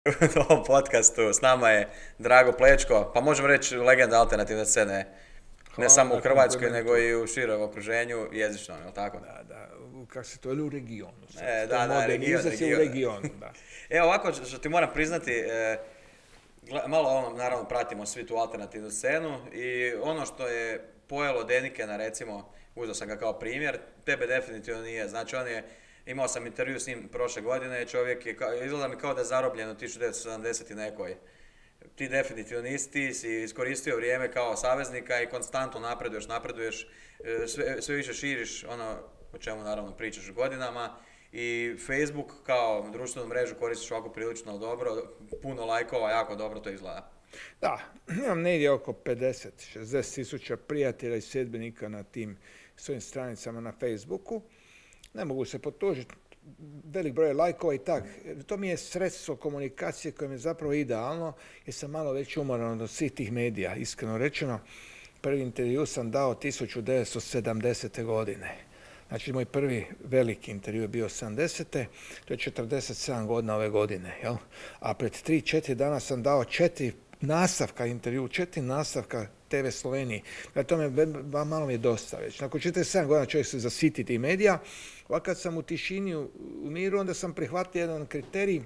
u ovom podcastu. S nama je Drago Plečko, pa možemo reći legenda alternativne scene. Ne Hvala samo u na Hrvatskoj, komplimentu. nego i u širem okruženju, jezično, je li tako? Da, kako se to je u regionu. Sad. To Da, je moderni izraz je u regionu, da. Evo ovako što ti moram priznati, malo naravno pratimo svi tu alternativnu scenu i ono što je pojelo Denikena, recimo, uzeo sam ga kao primjer, tebe definitivno nije. Znači imao sam intervju s njim prošle godine, čovjek je, izgleda mi kao da je zarobljen u 1970 i nekoj. Ti definitivno nisi, ti si iskoristio vrijeme kao saveznika i konstantno napreduješ, sve više širiš ono o čemu naravno pričaš godinama i Facebook kao društvenu mrežu koristiš ovako prilično dobro, puno lajkova, jako dobro to izgleda. Da, imam negdje oko 50-60 tisuća prijatelja i sljedbenika na tim svojim stranicama na Facebooku. Ne mogu se potužiti, velik broj lajkova i tak. To mi je sredstvo komunikacije koje mi je zapravo idealno jer sam malo već umoran od svih tih medija, iskreno rečeno. Prvi intervju sam dao 1970. godine. Znači, moj prvi veliki intervju je bio 70. To je 47 godina ove godine. Jel? A pred 3-4 dana sam dao 4 nastavka intervju, 4 nastavka TV Sloveniji. To malo mi je dosta već. Nakon 47 godina čovjek se zasiti tih medija. Ovako kad sam u tišini, u miru, onda sam prihvatio jedan kriterij.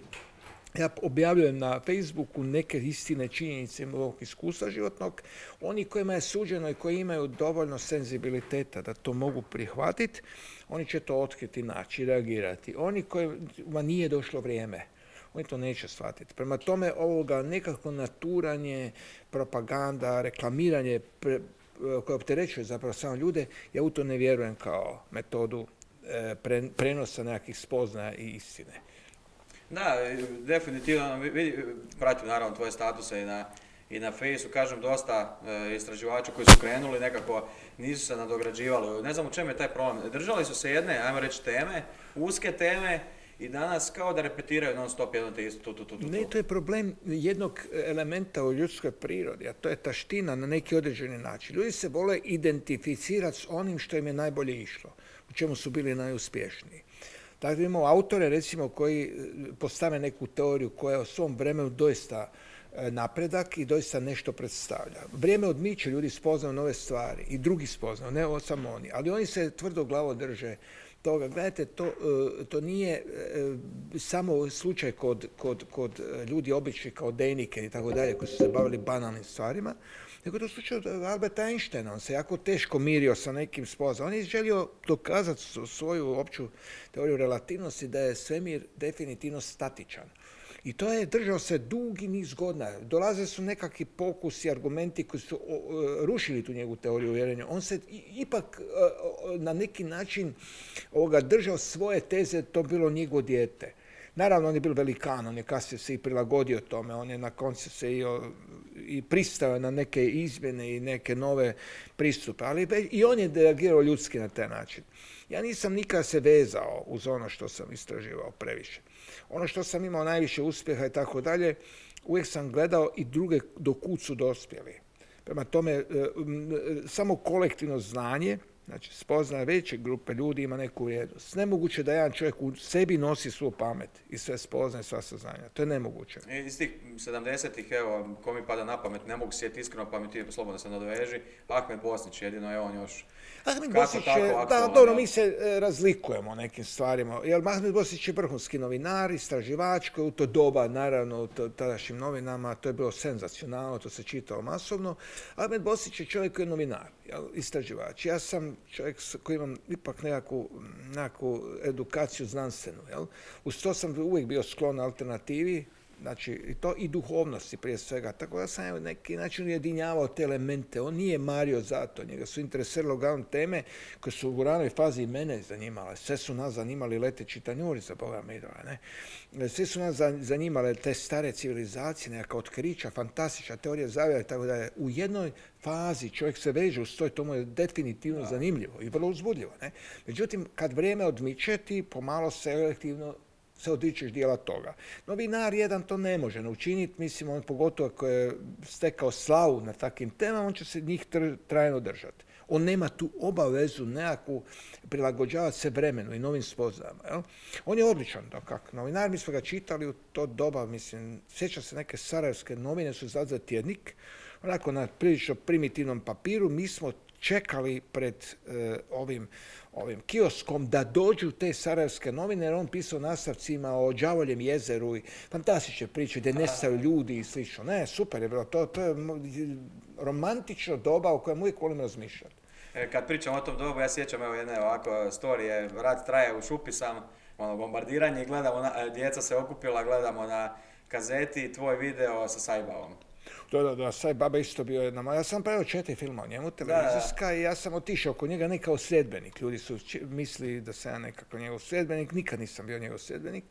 Ja objavljujem na Facebooku neke istine, činjenice mog iskustva životnog. Oni kojima je suđeno i koji imaju dovoljno senzibiliteta da to mogu prihvatiti, oni će to otkriti, naći, reagirati. Oni kojima nije došlo vrijeme, oni to neće shvatiti. Prema tome, ovoga nekako naturanje, propaganda, reklamiranje koje opterećuje zapravo samo ljude, ja u to ne vjerujem kao metodu prenosa nekakvih spoznaja i istine. Da, definitivno, pratim naravno tvoje statuse i na Fejsu, kažem dosta istraživača koji su krenuli nekako nisu se nadograđivali. Ne znam u čemu je taj problem. Držali su se jedne, ajmo reći, teme, uske teme i danas kao da repetiraju non stop jedno te isto. Ne, to je problem jednog elementa u ljudskoj prirodi, a to je taština na neki određeni način. Ljudi se vole identificirati s onim što im je najbolje išlo, u čemu su bili najuspješniji. Tako da imamo autore, recimo, koji postave neku teoriju koja je u svom vremenu doista napredak i doista nešto predstavlja. Vrijeme odmiče, ljudi spoznaju nove stvari i drugi spoznaju, ne samo oni, ali oni se tvrdo glavo drže toga. Gledajte, to nije samo slučaj kod ljudi obični kao Dejnike i tako dalje, koji su se bavili banalnim stvarima, nego to slučaj od Alberta Einsteina. On se jako teško mirio sa nekim spoznajama. On je želio dokazati svoju opću teoriju relativnosti da je svemir definitivno statičan. I to je držao se dugi niz godina. Dolaze su nekakvi pokusi, argumenti koji su rušili tu njegovu teoriju uvjerenja. On se ipak na neki način držao svoje teze, to bilo njegovo dijete. Naravno, on je bio velikan, on je kasnije se i prilagodio tome, on je na koncu se i pristao na neke izmjene i neke nove pristupe, ali i on je reagirao ljudski na taj način. Ja nisam nikada se vezao uz ono što sam istraživao previše. Ono što sam imao najviše uspjeha i tako dalje, uvijek sam gledao i druge do kud su dospjeli. Prema tome, samo kolektivno znanje, znači spoznaje veće grupe ljudi ima neku vrijednost. Nemoguće da jedan čovjek u sebi nosi svu pamet i sve spoznaje, sva saznanja. To je nemoguće. Iz tih 70-ih, evo, ko mi pada na pamet, ne mogu sjetiti iskreno, pa mi ti slobodno se nadoveži, Ahmed Bosnić jedino, evo on još... Ahmed Bosnić je, da, dobro, mi se razlikujemo o nekim stvarima, jer Ahmed Bosnić je vrhunski novinar, istraživač, koji u to doba, naravno, u tadašnjim novinama, to je bilo senzacionalno, to se čitao masovno. Ahmed Bosnić je čovjek koji je novinar, istraživač. Ja sam čovjek koji imam ipak nekakvu edukaciju znanstvenu. Uz to sam uvijek bio sklon alternativi, znači i duhovnosti prije svega. Tako da sam na neki način ujedinjavao te elemente. On nije mario za to, njega su interesirale uglavnom teme koje su u ranoj fazi i mene zanimale. Sve su nas zanimali leteći tanjuri, za Boga miloga, ne. Sve su nas zanimale te stare civilizacije, nekakva otkrića, fantastična teorija zavjera i tako dalje. U jednoj fazi čovjek se veže uz to mu je definitivno zanimljivo i vrlo uzbudljivo, ne. Međutim, kad vrijeme odmiče, ti pomalo selektivno se odričeš dijela toga. Novinar jedan to ne može učiniti, mislim, on pogotovo ako je stekao slavu na takvim temama, on će se njih trajno držati. On nema tu obavezu nekakvu prilagođavati se vremenu i novim spoznajama. Jel? On je odličan, kak novinar, mi smo ga čitali u to doba, mislim, sjećam se neke sarajevske novine su za tjednik, onako na prilično primitivnom papiru, mi smo čekali pred ovim kioskom da dođu te sarajevske novine, jer on pisao nastavcima o Đavoljem jezeru i fantastične priče gdje nestaju ljudi i slično. Ne, super je bilo. To je romantično doba o kojem uvijek volim razmišljati. Kad pričam o tom dobu, ja sjećam jedne ovako storije, rat traje, u šupi sam, bombardiranje i gledamo, djeca se okupila, gledamo na kazeti tvoj video sa Sajbavom. Da, Saj Baba isto bio jedna. Ja sam pravio 4 filma o njemu, televizijska, i ja sam otišao kod njega ne kao sljedbenik. Ljudi su mislili da sam ja nekako njegov sljedbenik, nikad nisam bio njegov sljedbenik.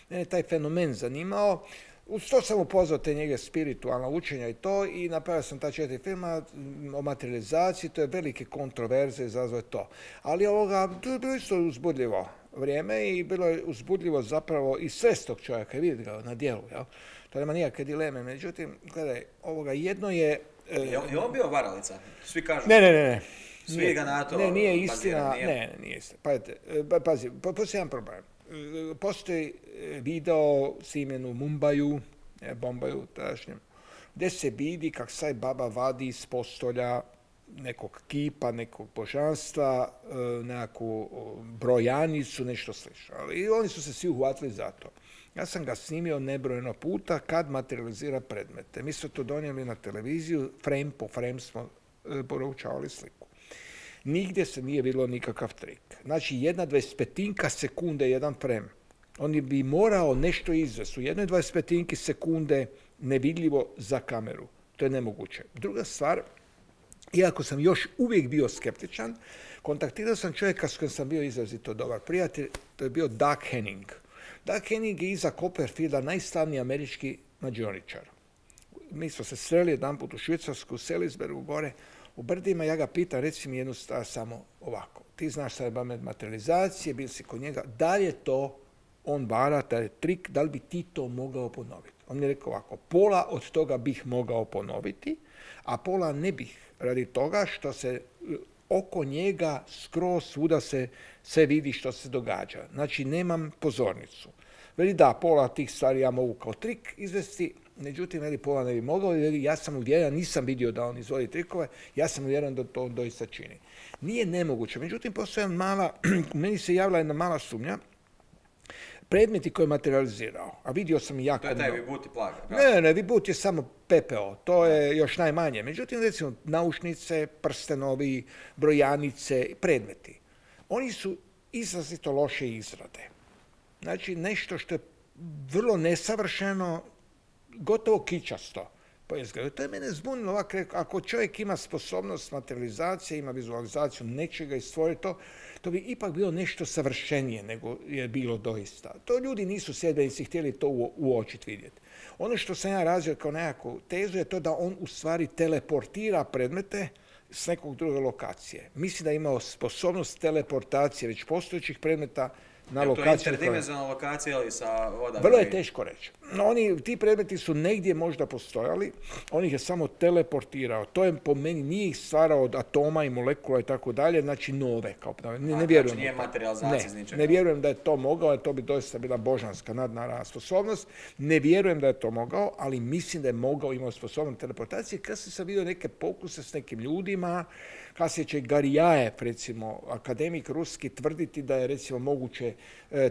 Mene je taj fenomen zanimao. Uz to sam upoznao te njege spiritualna učenja i to, i napravio sam ta 4 filma o materializaciji, to je velike kontroverze, izazvao to. Ali to je bilo isto uzbudljivo vrijeme i bilo je uzbudljivo zapravo i svest tog čovjeka, vidjeti ga na djelu, jel? To nema nikakve dileme, međutim, gledaj, jedno je... Je on bio varalica? Svi kažu... Ne. Svi ga na to... Ne, nije istina, nije istina. Pazi, postoji jedan problem. Postoji video snimljen u Mumbaju, Bombaju tadašnjem, gdje se vidi kako Saj Baba vadi iz postolja nekog kipa, nekog božanstva, nekakvu brojanicu, nešto slično. I oni su se svi uhvatili za to. Ja sam ga snimio nebrojeno puta kad materializira predmete. Mi smo to donijeli na televiziju, frame po frame smo poručavali sliku. Nigdje se nije bilo nikakav trik. Znači, 1/25 sekunde jedan frame. On bi morao nešto izvesti u 1/25 sekunde nevidljivo za kameru. To je nemoguće. Druga stvar, iako sam još uvijek bio skeptičan, kontaktirao sam čovjeka s kojim sam bio izrazito dobar prijatelj, to je bio Doug Henning. Doug Henning je iza Copperfielda najslavniji američki mađioničar. Mi smo se sreli jedanput u Švicarsku, u Salisburyju gore, u brdima, ja ga pitam, reci mi jednu stvar samo ovako. Ti znaš Saj Baba materializacije, bil si kod njega, da li je to on vara, taj trik, da li bi ti to mogao ponoviti? On mi je rekao ovako, pola od toga bih mogao ponoviti, a pola ne bih, radi toga što se oko njega skroz svuda se sve vidi što se događa. Znači, nemam pozornicu. Veli da, pola tih stvari ja mogu kao trik izvesti, međutim, veli pola ne bi mogao, veli ja sam uvjeren, nisam vidio da on izvodi trikove, ja sam uvjeren da to doista čini. Nije nemoguće, međutim, postoje meni se javila jedna mala sumnja, predmeti koje je materializirao, a vidio sam i jako... To je taj Vibhuti plaga. Ne, Vibhuti je samo pepeo, to je još najmanje. Međutim, recimo, naušnice, prstenovi, brojanice, predmeti. Oni su izrazito loše izrade. Znači, nešto što je vrlo nesavršeno, gotovo kičasto po izgledu. To je mene zbunilo ovako, ako čovjek ima sposobnost materializacije, ima vizualizaciju nečega i stvori to, to bi ipak bilo nešto savršenije nego je bilo doista. To ljudi nisu sljedbenici htjeli to uočiti, vidjeti. Ono što sam ja razvio kao nekakvu tezu je to da on u stvari teleportira predmete s nekog druge lokacije. Mislim da je imao sposobnost teleportacije već postojećih predmeta na lokaciju. To je interdimenzionalna lokacija ili sa vodama? Vrlo je teško reći. Ti predmeti su negdje možda postojali, on ih je samo teleportirao. To je po meni, nije ih stvarao od atoma i molekula i tako dalje, znači nove. Ne vjerujem. Znači nije materializacija iz ničega. Ne vjerujem da je to mogao, jer to bi doista bila božanska nadnaravna sposobnost. Ne vjerujem da je to mogao, ali mislim da je mogao, imao sposobnost teleportacije. Kasnije sam vidio neke pokuse s nekim ljudima, kasnije će Garijaev, recimo, akademik ruski, tvrditi da je, recimo, moguće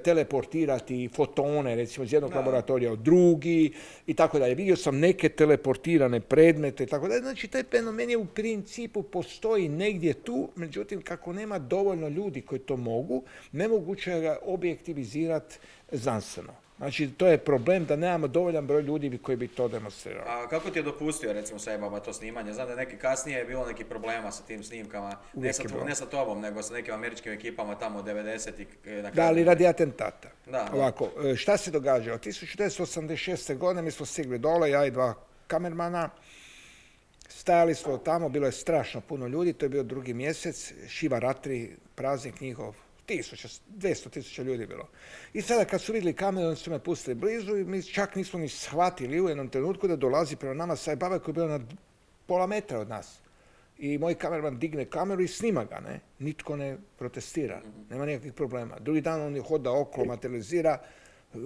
teleportirati fotone, recimo, iz jednog laboratorija u drugi i tako dalje. Vidio sam neke teleportirane predmete i tako dalje. Znači, taj fenomen je u principu postoji negdje tu, međutim, kako nema dovoljno ljudi koji to mogu, nemoguće je ga objektivizirati znanstveno. Znači, to je problem da nemamo dovoljan broj ljudi koji bi to demonstrirali. A kako ti je dopustio, recimo, Saj Baba to snimanje? Znam da je kasnije je bilo nekih problema sa tim snimkama, ne sa tobom, nego sa nekim američkim ekipama tamo od 90-ih. Da, ali radi atentata. Da. Ovako, šta se događalo? 1986. godine mi smo stigli dole, ja i 2 kamermana, stajali smo tamo, bilo je strašno puno ljudi, to je bio 2. mjesec, Šiva Ratri, praznik njihov, 200.000 ljudi bilo. I sada kad su vidjeli kameru, oni su me pustili blizu i mi čak nismo ni shvatili u jednom trenutku da dolazi prema nama Saj Baba koji je bio na pola metra od nas. i moj kamerman digne kameru i snima ga, ne? Nitko ne protestira, nema nikakvih problema. Drugi dan on je hoda okolo, materializira,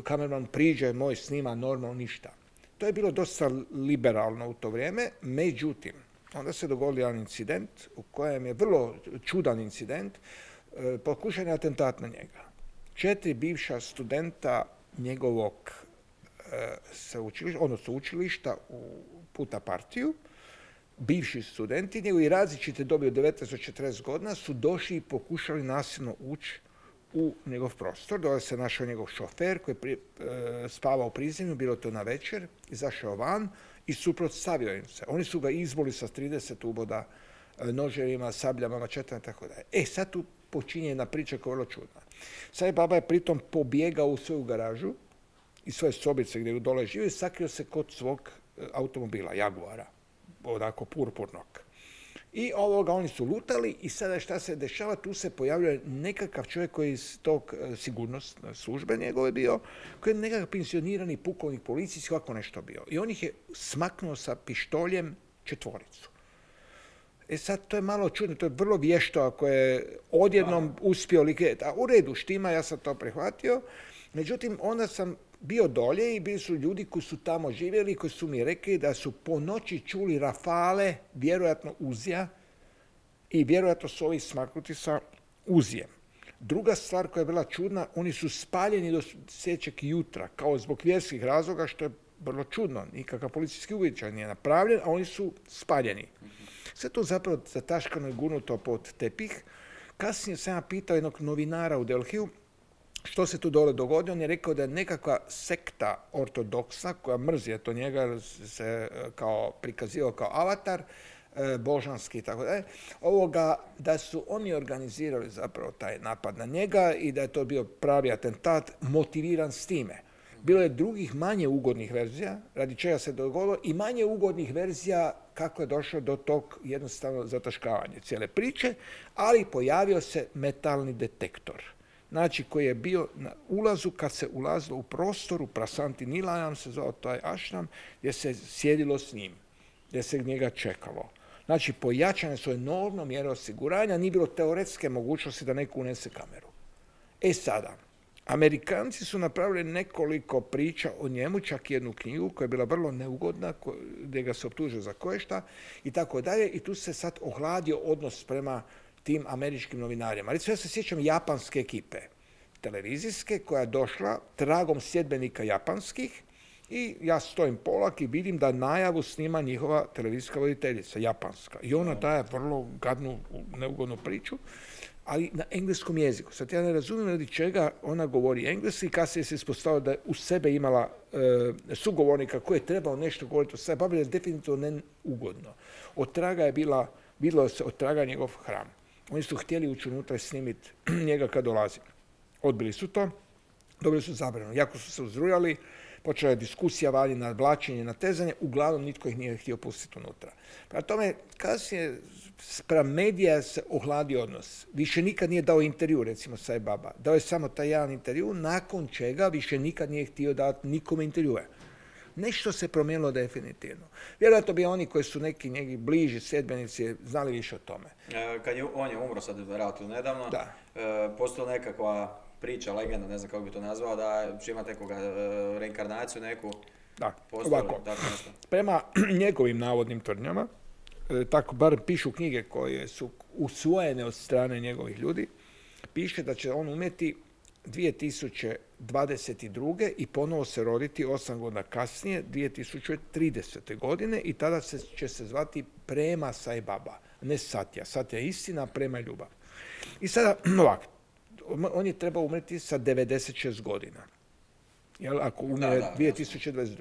kamerman priđe, moj snima, normalno ništa. To je bilo dosta liberalno u to vrijeme, međutim, onda se dogodio jedan incident u kojem je vrlo čudan incident, pokušan je atentat na njega. 4 bivša studenta njegovog sveučilišta u Puta partiju, bivši studenti njegovi različite dobi od 19 do 40 godina su došli i pokušali nasilno ući u njegov prostor. Dole se našao njegov šofer koji je spavao u prizemlju, bilo to na večer, izašao van i suprotstavio im se. Oni su ga izboli sa 30 uboda noževima, sabljama, mačetama i tako dalje. Sad tu počinje jedna priča koja je vrlo čudna. Sai Baba je pritom pobjegao u svoju garažu iz svoje sobice gdje je dole živio i sakrio se kod svog automobila, Jaguara, onako purpurnog. I oni su lutali i sada šta se dešava, tu se pojavljuje nekakav čovjek koji je iz tog sigurnosne službe njegove bio, koji je nekakav pensionirani pukovnik policijski, ovako nešto bio. I on ih je smaknuo sa pištoljem 4. Sad, to je malo čudno, to je vrlo vješto ako je odjednom uspio likviditi. A u redu, štima, ja sam to prihvatio. Međutim, onda sam bio dolje i bili su ljudi koji su tamo živjeli, koji su mi rekli da su po noći čuli rafale, vjerojatno Uzija, i vjerojatno su ovi smaknuti sa Uzijem. Druga stvar koja je bila čudna, oni su spaljeni do sljedećeg jutra, kao zbog vjerskih razloga, što je vrlo čudno. Nikakav policijski uviđaj nije napravljen, a oni su spaljeni. Sve to zapravo zataškano i gurnuto pod tepih. Kasnije sam ja pitao jednog novinara u Delhiju što se tu dole dogodilo. On je rekao da je nekakva sekta ortodoksa koja mrzi to njega, se kao prikazivao kao avatar, božanski i tako dalje, da su oni organizirali zapravo taj napad na njega i da je to bio pravi atentat motiviran s time. Bilo je drugih manje ugodnih verzija, radi čega se dogodilo, i manje ugodnih verzija kako je došlo do tog jednostavno zataškavanja cijele priče, ali pojavio se metalni detektor. Znači, koji je bio na ulazu kad se ulazilo u prostoru, Prasanti Nilayam se zvao taj ašram, gdje se sjedilo s njim, gdje se njega čekalo. Znači, pojačane su enormno mjere osiguranja, nije bilo teoretske mogućnosti da neko unese kameru. Sada, Amerikanci su napravili nekoliko priča o njemu, čak jednu knjigu koja je bila vrlo neugodna, gdje ga se optužio za koješta i tako dalje, i tu se sad ohladio odnos prema tim američkim novinarima. Recimo, ja se sjećam japanske ekipe, televizijske, koja je došla tragom sljedbenika japanskih i ja stojim polak i vidim da najavu snima njihova televizijska voditeljica, japanska. I ona daje vrlo gadnu, neugodnu priču, ali na engleskom jeziku. Sad ja ne razumijem radi čega ona govori engleski, kasnije se ispostavilo da je u sebe imala sugovornika koji je trebao nešto govoriti o sebi, ali je definitivno neugodno. Otraga je bilo se otraga njegov hram. Oni su htjeli ući unutra i snimiti njega kad dolazi. Odbili su to, dobili su zabranu. Jako su se uzrujali, počela je diskusija, valje, nadvlačenje, natezanje, uglavnom nitko ih nije htio pustiti unutra. Prema tome, kasnije spram medija se ohladi odnos. Više nikad nije dao intervju, recimo Sai Baba. Dao je samo taj jedan intervju, nakon čega više nikad nije htio dati nikome intervjue. Nešto se promijenilo definitivno. Vjerojatno bi oni koji su neki njegi bliži sljedbenici znali više o tome. On je umro sad relativno nedavno, postoji nekakva priča, legenda, ne znam kako bi to nazvao, da će imati nekoga reinkarnaciju neku. Da, ovako. Prema njegovim navodnim tvrdnjama, tako bar pišu knjige koje su usvojene od strane njegovih ljudi, piše da će on umjeti 2022. i ponovo se roditi 8 godina kasnije, 2030. godine, i tada će se zvati Prema Sai Baba, ne Satya. Satya je istina, Prema je ljubav. I sada, ovako, on je trebao umreti sa 96 godina. Ako umre 2022.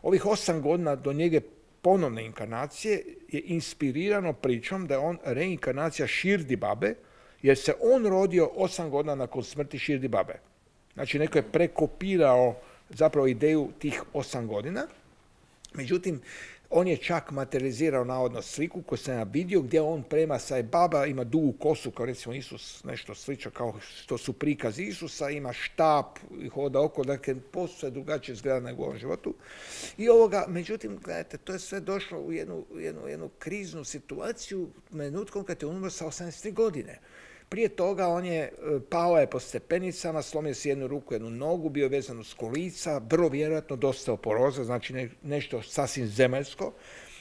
Ovih 8 godina do njege ponovne inkarnacije je inspirirano pričom da je on reinkarnacija Shirdi Babe, jer se on rodio 8 godina nakon smrti Shirdi Babe. Znači, neko je prekopirao zapravo ideju tih 8 godina. Međutim, On je čak materializirao navodno sliku koju sam ja vidio gdje on prema sa baba, ima dugu kosu kao recimo Isus, nešto slično kao što su prikazi Isusa, ima štap i hoda oko, dakle posve drugačije izgleda nego u ovom životu. I međutim, gledajte, to je sve došlo u jednu kriznu situaciju minutkom kad je umro sa 83 godine. Prije toga pao je po stepenicama, slomio si jednu ruku, jednu nogu, bio vezan uz kolica, vrlo vjerojatno dosta oporoza, znači nešto sasvim zemaljsko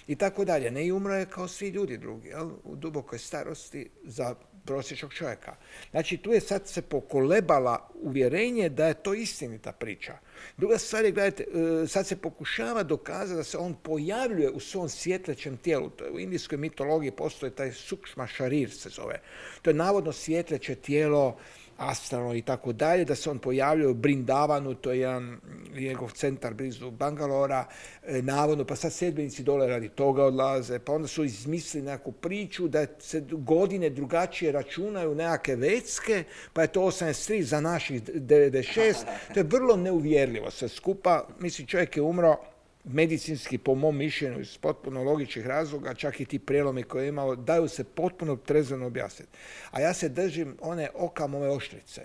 i tako dalje. Ne, i umro je kao svi ljudi drugi, u dubokoj starosti za prosječnog čovjeka. Znači, tu je sad se pokolebala uvjerenje da je to istinita priča. Druga stvar je, gledajte, sad se pokušava dokazati da se on pojavljuje u svom svjetlećem tijelu. To je, u indijskoj mitologiji postoji taj sukšma šarir se zove. To je navodno svjetleće tijelo, astralno i tako dalje, da se on pojavljuje u Brindavanu, to je jedan njegov centar blizu Bangalora, navodno, pa sad sedbenici dole radi toga odlaze, pa onda su izmislili nekakvu priču da se godine drugačije računaju nekakve vecke, pa je to 83 za naših 96. To je vrlo neuvjerljivo sve skupa. Mislim, čovjek je umro medicinski, po mom mišljenju, iz potpuno logičnih razloga, čak i ti prijelomi koje je imao, daju se potpuno trezveno objasniti. A ja se držim one Occamove oštrice,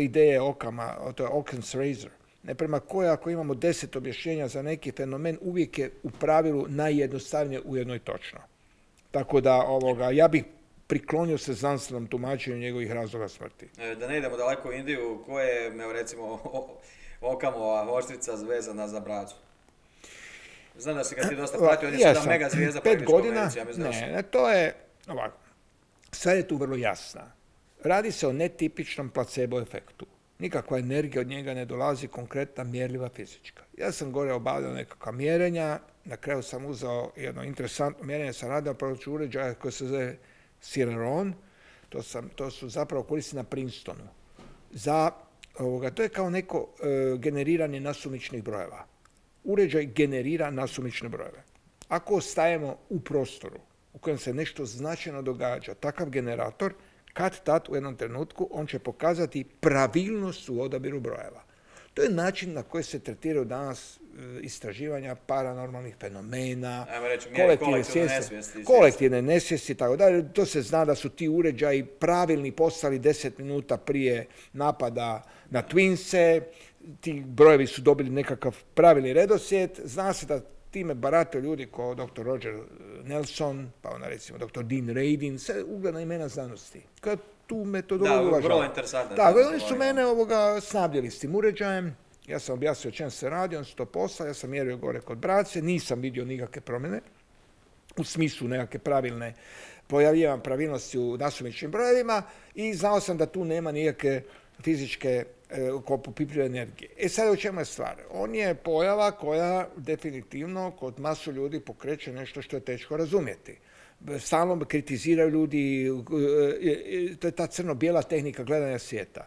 ideje Occama, to je Occam's razor, prema kojoj ako imamo 10 objašnjenja za neki fenomen, uvijek je u pravilu najjednostavnije, ujedno i točno. Tako da ja bih priklonio se znanstvenom tumačenju njegovih razloga smrti. Da ne idemo daleko u Indiju, koje je, recimo, Occamova oštrica vezana za bracu? Znam da si ga ti dosta pratio, on je sada mega zvijezda po Engleškoj Americi, ja mislim. Ne, to je ovako. Sve je tu vrlo jasna. Radi se o netipičnom placebo efektu. Nikakva energija od njega ne dolazi, konkretna, mjerljiva, fizička. Ja sam gore obavljao nekakva mjerenja, na kraju sam uzeo jedno interesantno mjerenje, sam radio proći uređaja koji se zove Celeron, to su zapravo koristi na Princetonu. To je kao neko generiranje nasumičnih brojeva. Uređaj generira nasumične brojeve. Ako ostajemo u prostoru u kojem se nešto značajno događa, takav generator, kad-tad u jednom trenutku, on će pokazati pravilnost u odabiru brojeva. To je način na koji se tretiraju danas istraživanja paranormalnih fenomena, kolektivne nesvijesti, tako dalje. To se zna da su ti uređaji pravilni postali 10 minuta prije napada na Twinse, ti brojevi su dobili nekakav pravilni redoslijed. Zna se da time barataju ljudi kao dr. Roger Nelson, pa onda recimo dr. Dean Radin, sve ugledna imena znanosti. Kad tu metodologiju uvažava. Da, vrlo interesantno. Da, oni su mene snabdjeli s tim uređajem. Ja sam objasnio o čem se radi, on su to poslali, ja sam mjerio gore kod brace, nisam vidio nikakve promjene, u smislu nekakve pojavljivan pravilnosti u nasumičnim brojevima i znao sam da tu nema nikakve fizičke popipljive energije. Sad u čemu je stvar? On je pojava koja definitivno kod masu ljudi pokreće nešto što je teško razumjeti. Stalno kritiziraju ljudi, to je ta crno-bijela tehnika gledanja svijeta.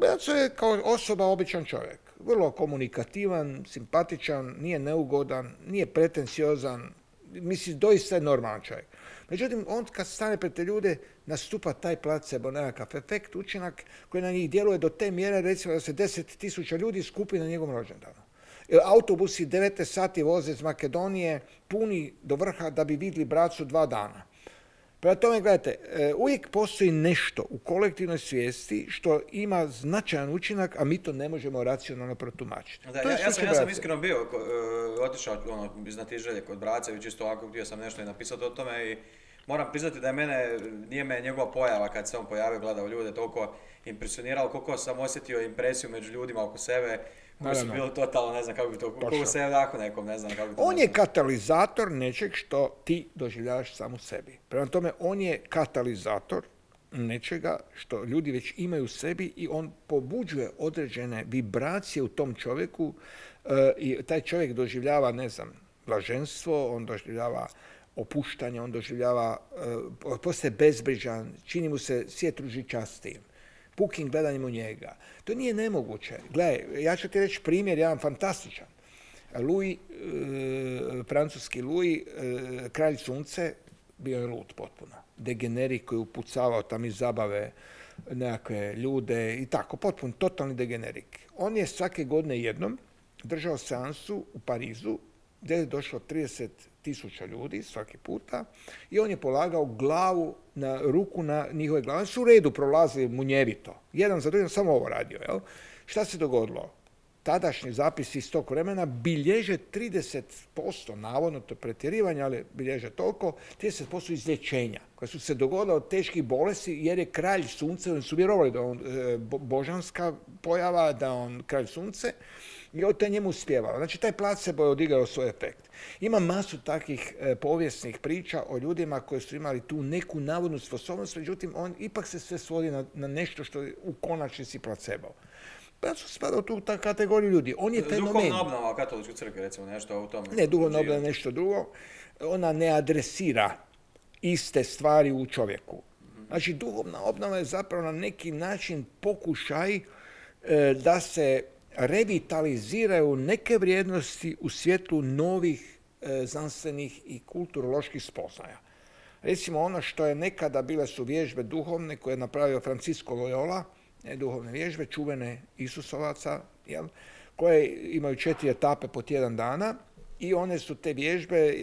Braco je kao osoba običan čovjek. Vrlo komunikativan, simpatičan, nije neugodan, nije pretenciozan, mislim, doista je normalan čovjek. Međutim, on kad stane pred te ljude, nastupa taj placebo, nekakav efekt, učinak koji na njih djeluje do te mjere, recimo da se 10.000 ljudi skupi na njegovom rođendanu. Autobusi 19 sati voze iz Makedonije, puni do vrha da bi vidjeli bracu 2 dana. Prema tome, gledajte, uvijek postoji nešto u kolektivnoj svijesti što ima značajan učinak, a mi to ne možemo racionalno protumačiti. Ja sam iskreno bio, otišao iznatiželje kod brace, čisto ovako htio sam nešto i napisati o tome i moram priznati da nije me njegova pojava kad se on pojavio, gledao ljude, toliko impresioniralo, koliko sam osjetio impresiju među ljudima oko sebe, koji su bili totalno, ne znam kako bi to, koliko se jako nekom, ne znam kako bi to... On je katalizator nečeg što ti doživljavaš sam u sebi. Prema tome, on je katalizator nečega što ljudi već imaju u sebi i on pobuđuje određene vibracije u tom čovjeku i taj čovjek doživljava, ne znam, blaženstvo, on doživljava opuštanje, on doživljava, postaje bezbrižan, čini mu se svijet ružičastijim, pukim gledanjem u njega. To nije nemoguće. Gledaj, ja ću ti reći primjer, jedan fantastičan. Louis, francuski Louis, kralj sunce, bio je lud potpuno. Degenerik koji je upucavao tam iz zabave nekakve ljude i tako, potpuno, totalni degenerik. On je svake godine jednom držao seansu u Parizu gdje je došlo 30.000 ljudi svaki puta i on je polagao glavu na ruku na njihove glave. Su u redu prolazili munjevito. Jedan za drugim samo ovo radio. Jel? Šta se dogodilo? Tadašnji zapisi iz tog vremena bilježe 30%, navodno to je pretjerivanje, ali bilježe toliko, 30% izlječenja koja su se dogodila od teških bolesti jer je kralj sunce, oni su vjerovali da je on božanska pojava, da je on kralj sunce i od te njemu uspjevalo. Znači taj placebo je odigrao svoj efekt. Ima masu takvih povijesnih priča o ljudima koji su imali tu neku navodnu sposobnost, međutim on ipak se sve svodi na nešto što je u konačnici placebo. Pa su spada u tu kategoriju ljudi. On je fenomen. Duhovna obnova katoličke crkve, recimo, nešto u tom. Ne, duhovna obnova je nešto drugo. Ona ne adresira iste stvari u čovjeku. Znači, duhovna obnova je zapravo na neki način pokušaj da se revitaliziraju neke vrijednosti u svjetlu novih znanstvenih i kulturoloških spoznaja. Recimo, ono što je nekada bile su vježbe duhovne koje je napravio Francisco Loyola, duhovne vježbe, čuvene Isusovaca, jel, koje imaju 4 etape po tjedan dana i one su te vježbe,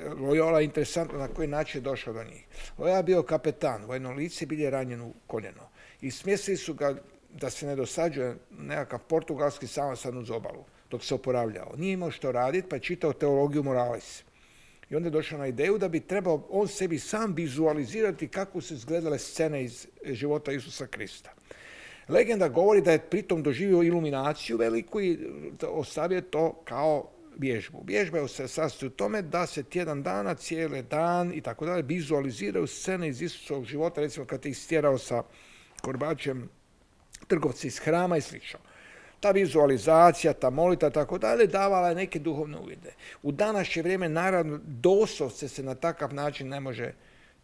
Loyola interesantno na koji način je došao do njih. Loyola je bio kapetan, vojno lice, bil je ranjen u koljeno i smjestili su ga da se ne dosađuje nekakav portugalski samosan uz obalu dok se oporavljao. Nije imao što raditi pa je čitao teologiju moralis. I onda je došao na ideju da bi trebao on sebi sam vizualizirati kako su izgledale scene iz života Isusa Krista. Legenda govori da je pritom doživio iluminaciju veliku i ostavio to kao vježbu. Vježba se sastoji u tome da se tjedan dana, cijeli dan i tako dalje vizualiziraju scene iz Isusovog života, recimo kad je istjerao sa korbačem trgovci iz hrama i slično. Ta vizualizacija, ta molita, tako dalje, davala je neke duhovne uvide. U današnje vrijeme, naravno, doslovce se na takav način ne može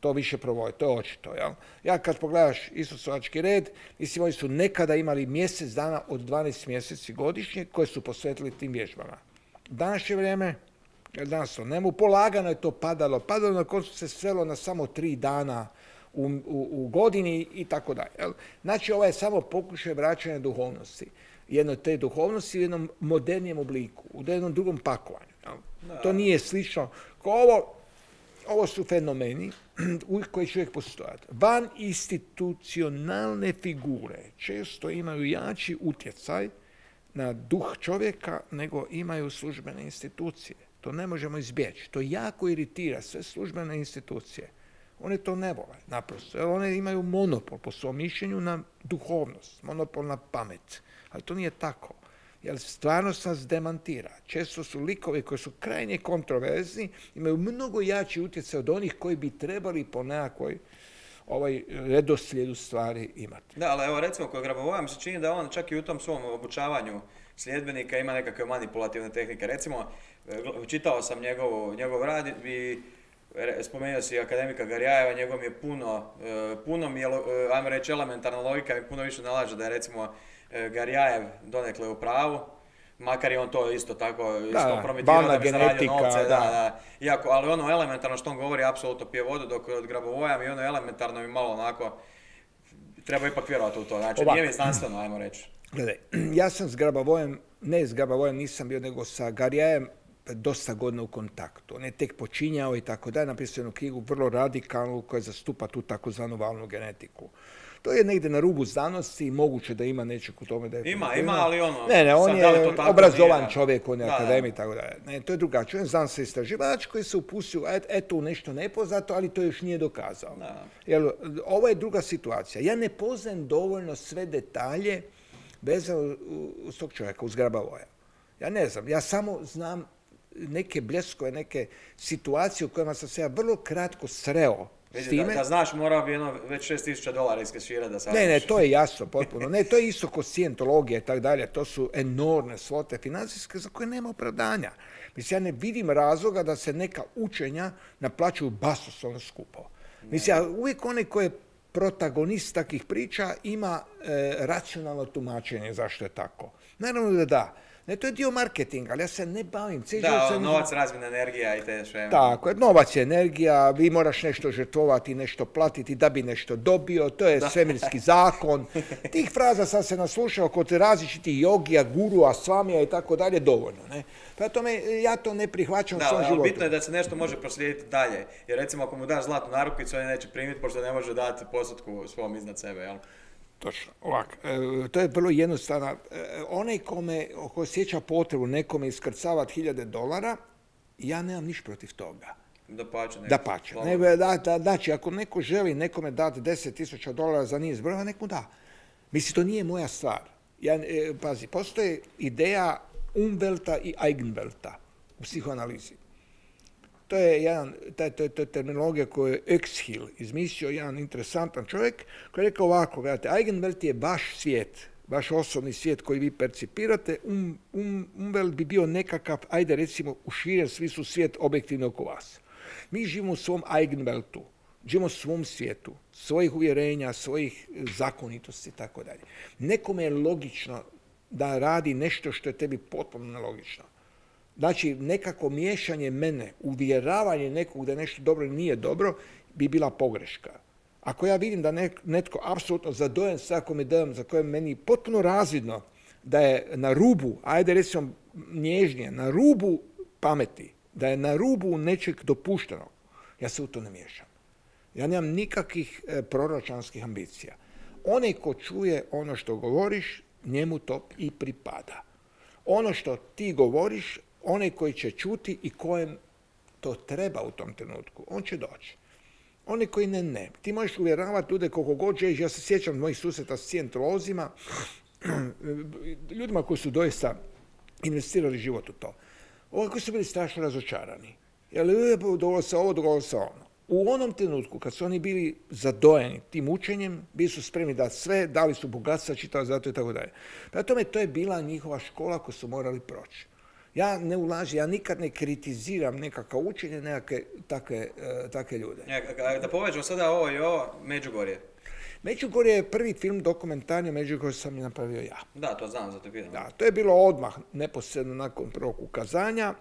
to više provoditi, to je očito. Jel? Ja kad pogledaš Isusovački red, mislim, oni su nekada imali mjesec dana od 12 mjeseci godišnje koje su posvetili tim vježbama. U današnje vrijeme, danas to nemu, polagano je to padalo, na koncu se svelo na samo 3 dana u godini i tako dalje. Znači, ovo je samo pokušaj vraćanja duhovnosti. Jednoj te duhovnosti u jednom modernijem obliku, u jednom drugom pakovanju. To nije slično kao ovo su fenomeni koji će uvijek postojati. Van institucionalne figure često imaju jači utjecaj na duh čovjeka nego imaju službene institucije. To ne možemo izbjeći. To jako iritira sve službene institucije. One to ne vole, naprosto. Jer one imaju monopol po svom mišljenju na duhovnost, monopol na pamet. Ali to nije tako. Jer stvarnost nas demantira. Često su likovi koji su krajnje kontroverzni, imaju mnogo jači utjecaj od onih koji bi trebali po nekakvoj redoslijedu stvari imati. Da, ali evo recimo kod Grabovoja mi se čini da on čak i u tom svom obučavanju sljedbenika ima nekakve manipulativne tehnike. Recimo, čitao sam njegov rad i spomenuo si akademika Garjajeva, njegov je puno mi je, ajmo reći, elementarna logika mi puno više nalaže da je recimo Garjajev donekle u pravu, makar je on to isto tako promitirao da bi zaradio novce, Iako, ali ono elementarno što on govori apsolutno pije vodu, dok od Grabovoja mi ono elementarno mi malo onako, treba ipak vjerovati u to, znači nije mi znanstveno, ajmo reći. Gledaj, ja sam s Grabovojem, ne s Grabovojem nisam bio, nego sa Garjajem dosta godina u kontaktu. On je tek počinjao i tako dalje, napisao jednu knjigu vrlo radikalnu koja zastupa tu takozvanu valnu genetiku. To je negdje na rubu znanosti i moguće da ima nečeg u tome da je... Ima, ali ono... Ne, on je obrazovan čovjek, on je akademik i tako dalje. Ne, to je drugačije. On je znanstveni istraživač koji se upustio u nešto nepoznato, ali to još nije dokazao. Jer ovo je druga situacija. Ja ne poznajem dovoljno sve detalje vezano uz tog čovjeka, uz Grabavoja. Ja ne znam, ja samo znam neke bljeskove, neke situacije u kojima sam se ja vrlo kratko sreo s time. Da znaš, morao bi već $6.000 iskeširati da saznaš. Ne, to je jasno, potpuno. Ne, to je isto kod scijentologije i tako dalje. To su enormne svote financijske za koje nema opravdanja. Mislim, ja ne vidim razloga da se neka učenja naplaćuju basoslovno skupo. Mislim, ja uvijek onaj koji je protagonist takvih priča ima racionalno tumačenje zašto je tako. Naravno da da. Ne, to je dio marketinga, ali ja se ne bavim. Da, novac, razmjena energija i te sve. Tako, novac je energija, vi moraš nešto žrtvovati, nešto platiti da bi nešto dobio, to je svemirski zakon. Tih fraza sam se naslušao kod različitih jogija, gurua, svamija i tako dalje, dovoljno. Ne? Prema tome, ja to ne prihvaćam u svom životu. Bitno je da se nešto može proslijediti dalje. Jer recimo ako mu daš zlatnu narukvicu, on je neće primiti, pošto ne može dati postotku svom iznad sebe, jel? Točno, ovako. To je vrlo jednostavno. Onaj ko osjeća potrebu nekome iskrcavati $1000, ja nemam niš protiv toga. Dapače. Znači, ako neko želi nekome dati $10,000 za niz brojeva, nek mu da. Mislim, to nije moja stvar. Pazi, postoji ideja Umwelta i Eigenwelta u psihoanalizi. To je terminologija koju je Exhill izmislio, jedan interesantan čovjek koji je rekao ovako, gledajte, Eigenwelt je vaš svijet, vaš osobni svijet koji vi percipirate, Umwelt bi bio nekakav, ajde recimo, u širem smislu svijet objektivno oko vas. Mi živimo u svom Eigenweltu, živimo u svom svijetu, svojih uvjerenja, svojih zakonitosti i tako dalje. Nekome je logično da radi nešto što je tebi potpuno nelogično. Znači, nekako miješanje mene, uvjeravanje nekog da je nešto dobro ili nije dobro, bi bila pogreška. Ako ja vidim da netko apsolutno zadojen svakom idejom za koje meni potpuno razvidno da je na rubu, ajde recimo nježnije, na rubu pameti, da je na rubu nečeg dopuštenog, ja se u to ne miješam. Ja nemam nikakvih proročanskih ambicija. Onaj ko čuje ono što govoriš, njemu to i pripada. Ono što ti govoriš, onaj koji će čuti i kojem to treba u tom trenutku, on će doći. Oni koji ne. Ti možeš uvjeravati ljude koliko god želiš. Ja se sjećam mojih susreta s scientolozima, ljudima koji su doista investirali život u to. Ovo koji su bili strašno razočarani. Jer dogodilo se ovo, dogodilo se ono. U onom trenutku kad su oni bili zadojeni tim učenjem, bili su spremni dati sve, dali su bogatstva, čitali zato i tako dalje. Prema tome, to je bila njihova škola koju su morali proći. Ja ne ulažem, ja nikad ne kritiziram nekakav učenje, nekakve takve ljude. Da povežemo sada ovo i ovo, Međugorje. Međugorje je prvi film dokumentarni, Međugorje sam je napravio ja. Da, to znam, zato pitam. Da, to je bilo odmah, neposredno nakon prvog ukazanja.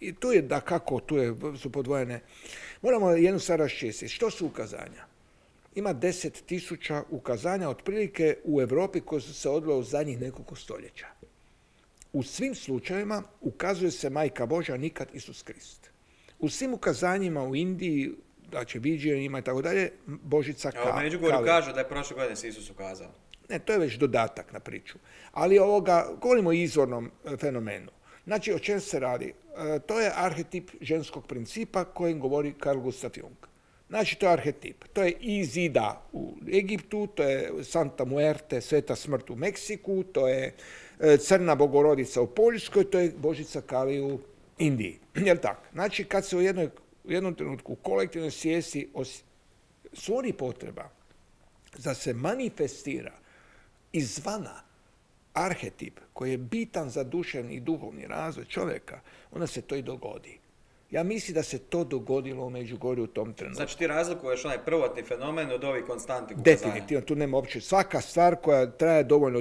I tu je, su podvojene. Moramo jednu stvar raščistiti. Što su ukazanja? Ima 10.000 ukazanja otprilike u Europi koje su se odvile u zadnjih nekoliko stoljeća. U svim slučajevima ukazuje se Majka Božja, nikad Isus Krist. U svim ukazanjima u Indiji, znači viđenjima i tako dalje, Božica Kali. U Međugorju kažu da je prošle godine se Isus ukazao. Ne, to je već dodatak na priču. Ali govorimo o izvornom fenomenu. Znači, o čem se radi? To je arhetip ženskog principa kojim govori Carl Gustav Jung. Znači, to je arhetip. To je Izida u Egiptu, to je Santa Muerte, Sveta smrt u Meksiku, to je Crna Bogorodica u Poljskoj, to je Božica Kali u Indiji. Jel tako? Znači, kad se u jednom trenutku kolektivnoj svijesti stvori potreba da se manifestira izvana arhetip koji je bitan za duševni i duhovni razvoj čovjeka, onda se to i dogodi. Ja mislim da se to dogodilo u Međugorju u tom trenutku. Znači ti razlikuješ onaj prvotni fenomen od ovih konstantnih ukazanja? Definitivno, tu nema uopće. Svaka stvar koja traje dovoljno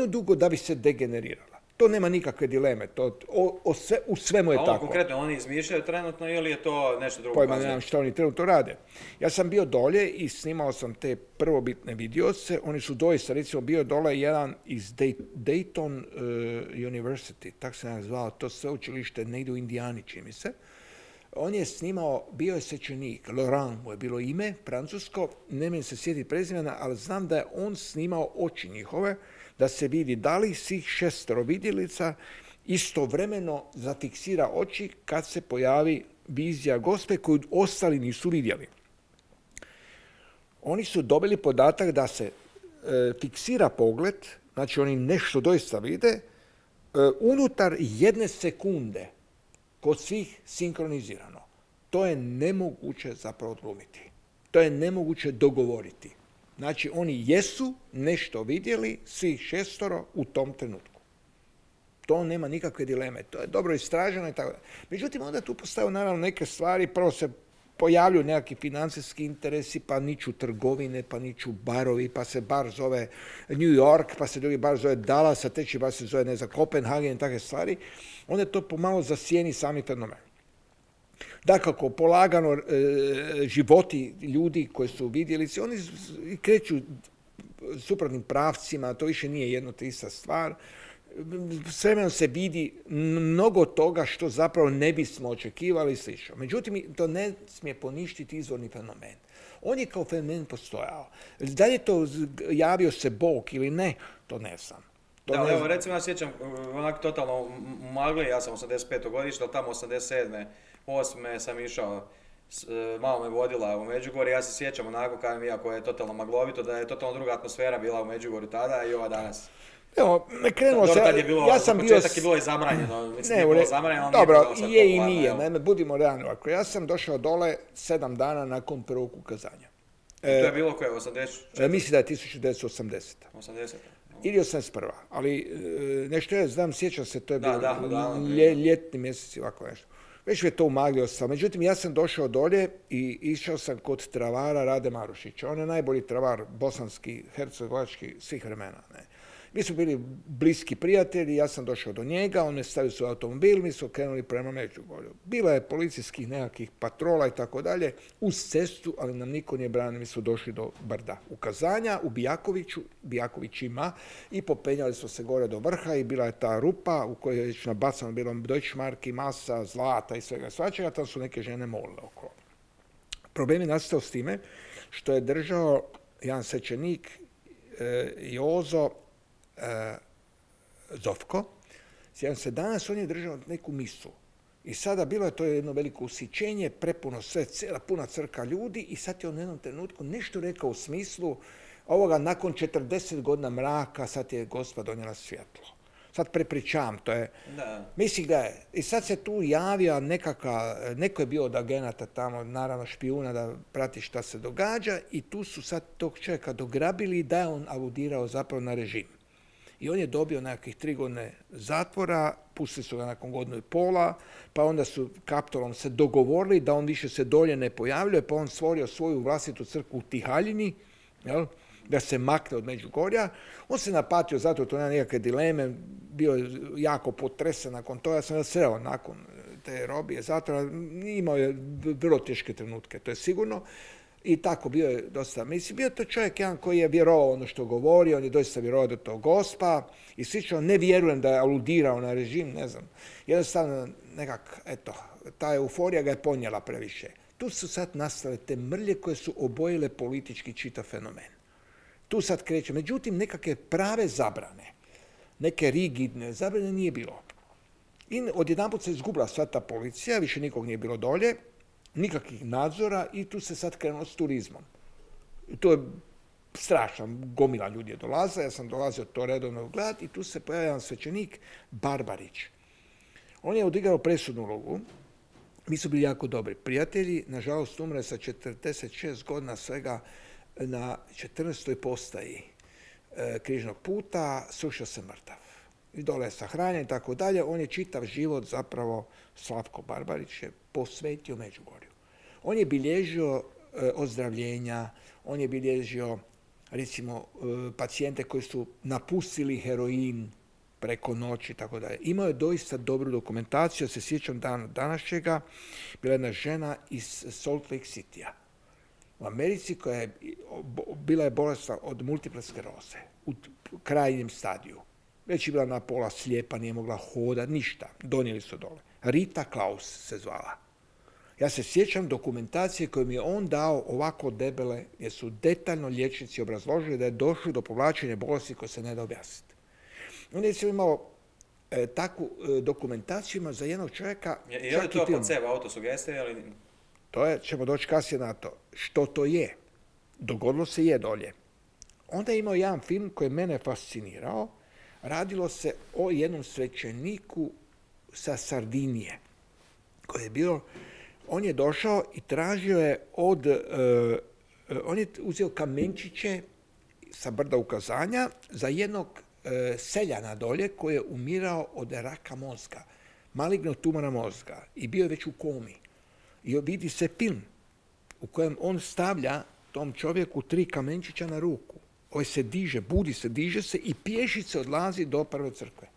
dugo da bi se degenerirala. To nema nikakve dileme. U svemu je tako. A konkretno, oni izmišljaju trenutno ili je to nešto drugo? Pojma nemam što oni trenutno rade. Ja sam bio dolje i snimao sam te prvobitne vidioce. Oni su doista, recimo, bio dole jedan iz Dayton University, tako se nam zvao, to sveučilište negdje u Indijani, čini mi se. On je snimao, bio je svećenik, Laurent mu je bilo ime, francusko, ne mogu se sjetiti prezimena, ali znam da je on snimao oči njihove, da se vidi da li svih 6 vidjelica istovremeno zafiksira oči kad se pojavi vizija Gospe koju ostali nisu vidjeli. Oni su dobili podatak da se fiksira pogled, znači oni nešto doista vide, unutar 1 sekunde kod svih sinkronizirano. To je nemoguće zapravo odglumiti. To je nemoguće dogovoriti. Znači, oni jesu nešto vidjeli, svih 6 u tom trenutku. To nema nikakve dileme. To je dobro istraženo i tako da. Međutim, onda tu postaju naravno neke stvari. Prvo se pojavljuju nekakvi financijski interesi, pa niču trgovine, pa niču barovi, pa se bar zove New York, pa se drugi bar zove Dallas, a treći bar se zove, ne znam, Kopenhagen i takve stvari, onda je to pomalo zasijeni sami fenomen. Dakako, polagano životi ljudi koji su vidjeli se, oni kreću suprotnim pravcima, to više nije jedno te ista stvar. S vremenom se vidi mnogo toga što zapravo ne bismo očekivali i slično. Međutim, to ne smije poništiti izvorni fenomen. On je kao fenomen postojao. Da li je to javio se Bog ili ne, to ne znam. Da, evo, recimo ja sjećam onako totalno magli, ja sam 85. godište, ali tamo 87. 8. sam išao, malo me vodila u Međugorje, ja se sjećam onako kao iako je totalno maglovito, da je totalno druga atmosfera bila u Međugorju tada i ova danas. Evo, krenulo se, ja sam bio... Početak je bilo i zabranjeno, mislim nije bilo zabranjeno, ali dobro, nije bilo sad je i nije, naime, budimo realni ovako. Ja sam došao dole 7 dana nakon prvog ukazanja. To je bilo koje, 84? Mislim da je 1980. 80. Ili 81. Ali nešto ja znam, sjećam se, to je bilo ljetni mjeseci, ovako nešto. Već je to umaglio sam. Međutim, ja sam došao dolje i išao sam kod travara Rade Marušića. On je najbolji travar bosanski, hercegovački, svih vremena. Ne. Mi smo bili bliski prijatelji, ja sam došao do njega, on me stavio svoj automobil, mi smo krenuli prema Međugorju. Bila je policijskih nekakvih patrola i tako dalje, uz cestu, ali nam niko nije branio, mi smo došli do brda ukazanja u Bijakovićima i popenjali smo se gore do vrha i bila je ta rupa u kojoj je već nabacano bilo Deutschmarki, masa, zlata i svega svačega, tam su neke žene molile okolo. Problem je nastao s time što je držao jedan svećenik Jozo Zovko. Sjećam se, danas on je držao neku misu. I sada bilo je to jedno veliko usićenje, prepuno sve, cijela puna crka ljudi i sad je on u jednom trenutku nešto rekao u smislu ovoga nakon 40 godina mraka sad je Gospa donijela svjetlo. Sad prepričavam, to je... Da. Mislim, gledaj, i sad se tu javio neko je bio od agenata tamo, naravno špijuna da prati šta se događa i tu su sad tog čovjeka dograbili da je on aludirao zapravo na režim. I on je dobio nekakvih 3 godine zatvora, pustili su ga nakon godinu i pola, pa onda su Kaptolom se dogovorili da on više se dolje ne pojavljuje, pa on stvorio svoju vlastitu crkvu u Tihaljini, jel? Da se makne od Međugorja. On se napatio, zato to nema nikakve dileme, bio je jako potresen nakon toga, ja sam ga sreo nakon te robije zatvora, imao je vrlo teške trenutke, to je sigurno. I tako bio je dosta, mislim, bio to čovjek jedan koji je vjerovao ono što govori, on je doista vjerovao da to Gospa i slično, ne vjerujem da je aludirao na režim, ne znam, jednostavno nekak, eto, ta euforija ga je ponijela previše. Tu su sad nastale te mrlje koje su obojile politički čitav fenomen. Tu sad kreće, međutim, nekakve prave zabrane, neke rigidne zabrane nije bilo. I odjedanput se izgubila sva ta policija, više nikog nije bilo dolje, nikakvih nadzora i tu se sad krenulo s turizmom. I to je strašno, gomila ljudi je dolaza, ja sam dolazio to redovno gledati i tu se pojavio jedan svećenik Barbarić. On je odigrao presudnu ulogu, mi su bili jako dobri prijatelji, nažalost umre sa 46 godina svega na 14. postaji križnog puta, srušio se mrtav. I dole je sahranjen i tako dalje. On je čitav život zapravo, Slavko Barbarić je posvetio Međugorju. On je bilježio ozdravljenja, on je bilježio recimo pacijente koji su napustili heroin preko noći i tako dalje. Imao je doista dobru dokumentaciju, ja se sjećam današnjega, bila jedna žena iz Salt Lake Citya u Americi koja je bila je bolesna od multiple skleroze u krajnjem stadiju. Već je bila na pola slijepa, nije mogla hodati, ništa. Donijeli su dole. Rita Klaus se zvala. Ja se sjećam dokumentacije koju mi je on dao ovako debele, jer su detaljno liječnici obrazložili da je došlo do povlačenja bolesti koje se ne da objasniti. On je imao takvu dokumentaciju za jednog čovjeka... Je li to placebo, autosugestija ili... To je, ćemo doći kasnije na to. Što to je? Dogodilo se je dolje. Onda je imao jedan film koji je mene fascinirao. Radilo se o jednom svećeniku sa Sardinije koji je bio, on je došao i tražio je on je uzeo kamenčiće sa brda ukazanja za jednog seljana dolje koji je umirao od raka mozga, malignog tumora mozga i bio je već u komi. I vidi se film. u kojem on stavlja tom čovjeku 3 kamenčića na ruku. Ovaj se diže, budi se, diže se i pješice odlazi do prve crkve.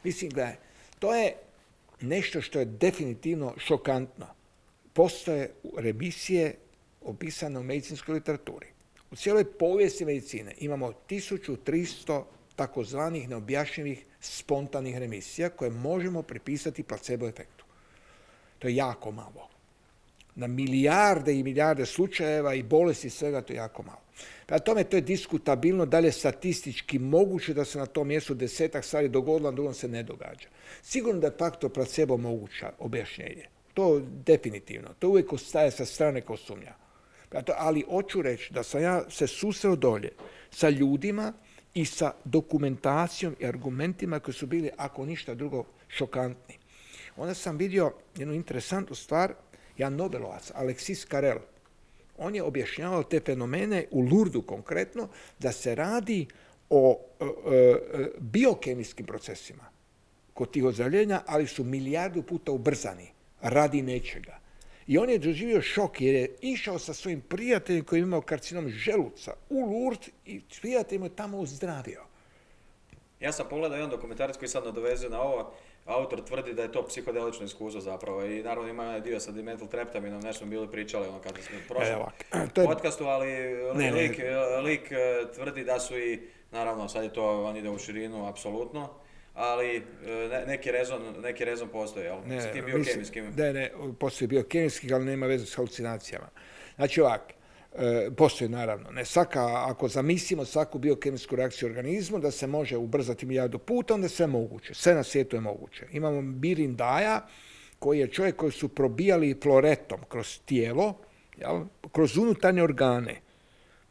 Mislim, gledaj, to je nešto što je definitivno šokantno. Postoje remisije opisane u medicinskoj literaturi. U cijeloj povijesti medicine imamo 1300 takozvanih neobjašnjivih spontanih remisija koje možemo pripisati placebo efektu. To je jako malo. Na milijarde i milijarde slučajeva i bolesti svega to je jako malo. Prema tome to je diskutabilno, da li je statistički moguće da se na tom mjestu 10-ak stvari dogodilo, a drugom se ne događa. Sigurno da je faktor placebo moguća objašnjenje. To definitivno. To uvijek ostaje sa strane kao sumnja. Ali hoću reći da sam ja se susreo dolje sa ljudima i sa dokumentacijom i argumentima koji su bili, ako ništa drugo, šokantni. Onda sam vidio jednu interesantnu stvar, jedan Nobelovac, Alexis Carrel. On je objašnjavao te fenomene u Lourdesu konkretno, da se radi o biokemijskim procesima kod tih ozdravljenja, ali su milijardu puta ubrzani radi nečega. I on je doživio šok jer je išao sa svojim prijateljem koji je imao karcinom želuca u Lourdes i prijatelj mu je tamo ozdravio. Ja sam pogledao jedan dokumentarac koji sad nadovezuje na ovo. Autor tvrdi da je to psihodelično iskustvo zapravo i naravno ima jedan dio sa dimetiltreptaminom, nešto smo bili pričali kada smo u prošlom podcastu, ali lik tvrdi da su i, naravno sad je to, on ide u širinu, apsolutno, ali neki rezon postoji, jel? S tim biokemijskim. Ne, postoji biokemijski, ali nema veze s halucinacijama. Znači ovako, postoji naravno. Ako zamislimo svaku biokemijsku reakciju u organizmu, da se može ubrzati milijardu puta, onda sve moguće. Sve na svijetu je moguće. Imamo Birindaja, koji je čovjek koji su probijali floretom kroz tijelo, kroz unutarnje organe,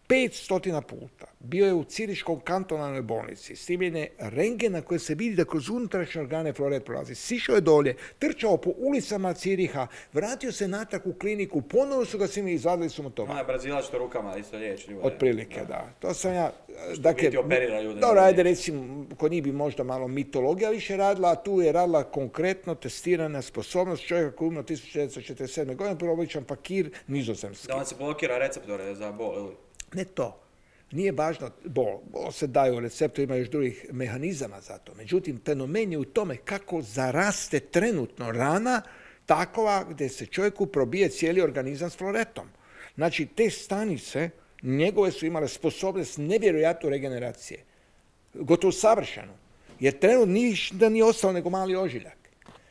500 puta. Bio je u Ciriškom kantonalnoj bolnici. Snimljen je rentgen na kojem se vidi da kroz unutrašnje organe floret prolazi. Sišao je dolje, trčao po ulicama Ciriha, vratio se natrag u kliniku, ponovo su ga svimi izvadili su mu to. Ona je Brazilac što rukama isto liječi ljude. Otprilike, da. To sam ja... Dakle, operira ljude. Dobro, ajde recimo, kod njih bi možda malo mitologija više radila, a tu je radila konkretno testirana sposobnost čovjeka koji je umro 1947. godine, prvo običan fakir nizozemski. Da on se blokira receptore za bol, ili? Ne to. Nije važno bol. Bol se daju receptor, ima još drugih mehanizama za to. Međutim, fenomen je u tome kako zaraste trenutno rana takova gdje se čovjeku probije cijeli organizam s floretom. Znači, te stanice njegove su imale sposobnost nevjerojatnu regeneracije. Gotovo savršeno. Jer trenutno ništa nije ostalo nego mali ožiljak.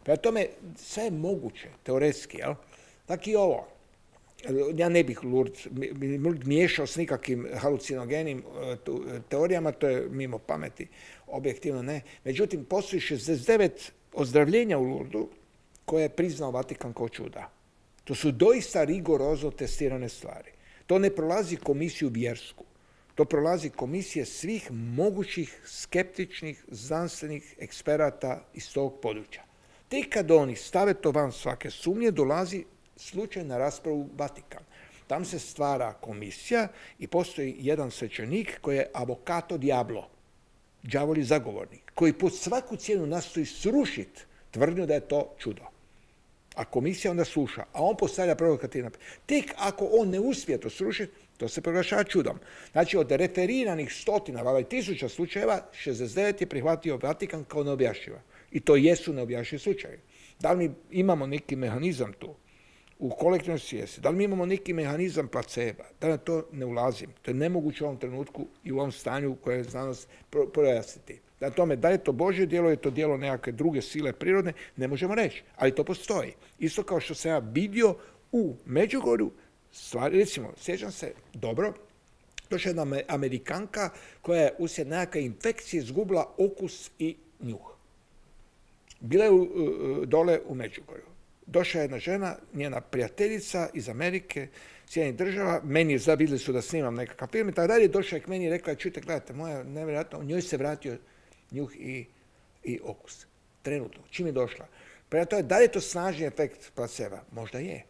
Prema tome, sve je moguće, teoretski, jel? Tako i ovo. Ja ne bih Lourdes miješao s nikakvim halucinogenim teorijama, to je mimo pameti, objektivno ne. Međutim, postoji 69 ozdravljenja u Lourdesu koje je priznao Vatikan kao čuda. To su doista rigorozno testirane stvari. To ne prolazi komisiju vjersku. To prolazi komisije svih mogućih skeptičnih znanstvenih eksperata iz tog područja. Tek kad oni stave to van svake sumnje, dolazi slučaj na raspravu u Vatikan. Tam se stvara komisija i postoji jedan svećenik koji je avocato diablo, đavolji zagovornik, koji pod svaku cijenu nastoji srušiti tvrdnju da je to čudo. A komisija onda sluša, a on postavlja provokativna. Tek ako on ne uspije to srušiti, to se proglašava čudom. Znači, od referiranih stotina, valjda i tisuća slučajeva, 69 je prihvatio Vatikan kao neobjašnjiva. I to jesu neobjašnjivi slučajevi. Da li mi imamo neki mehanizam tu u kolektivnoj svijesti? Da li mi imamo neki mehanizam placeba? Da na to ne ulazim. To je nemoguće u ovom trenutku i u ovom stanju u kojem je znanost projasniti. Na tome, da je to Božje djelo, je to djelo nekakve druge sile prirodne, ne možemo reći, ali to postoji. Isto kao što sam ja vidio u Međugorju stvari, recimo, sjećam se dobro, došla jedna Amerikanka koja je uslijed nekakve infekcije izgubila okus i njuh. Bila je dole u Međugorju. Došla je jedna žena, njena prijateljica iz Amerike, Sjedinjenih država, meni vidjeli su da snimam nekakav film i tako dalje, došla je k meni i rekla, čujte, gledajte, moja nevjerojatno, u njoj se vratio njuh i okus. Trenutno. Čim je došla? Prema tome, da li je to snažni efekt placeba? Možda je.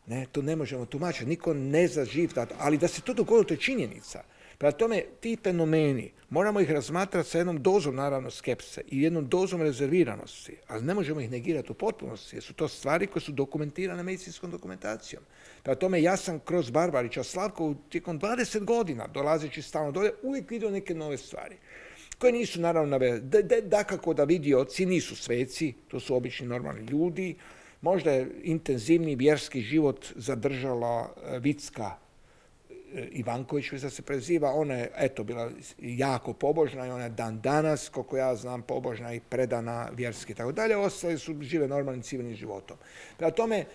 Ne, to ne možemo tumačiti. Niko ne zna živ, ali da se to dogodilo, to je činjenica. Prema tome, ti fenomeni, moramo ih razmatrati sa jednom dozom, naravno, skepse i jednom dozom rezerviranosti, ali ne možemo ih negirati u potpunosti, jer su to stvari koje su dokumentirane medicinskom dokumentacijom. Prema tome, ja sam kroz Barbarića Slavko tijekom 20 godina, dolazeći stalno dolje, uvijek vidio neke nove stvari, koje nisu, naravno, navedene. Dakako da vidioci nisu sveci, to su obični normalni ljudi, možda je intenzivni vjerski život zadržala Vicka Ivanković, da se preziva, ona je, eto, bila jako pobožna i ona je dan danas, koliko ja znam, pobožna i predana vjerski i tako dalje, ostali su žive normalnim civilnim životom. Prema tome,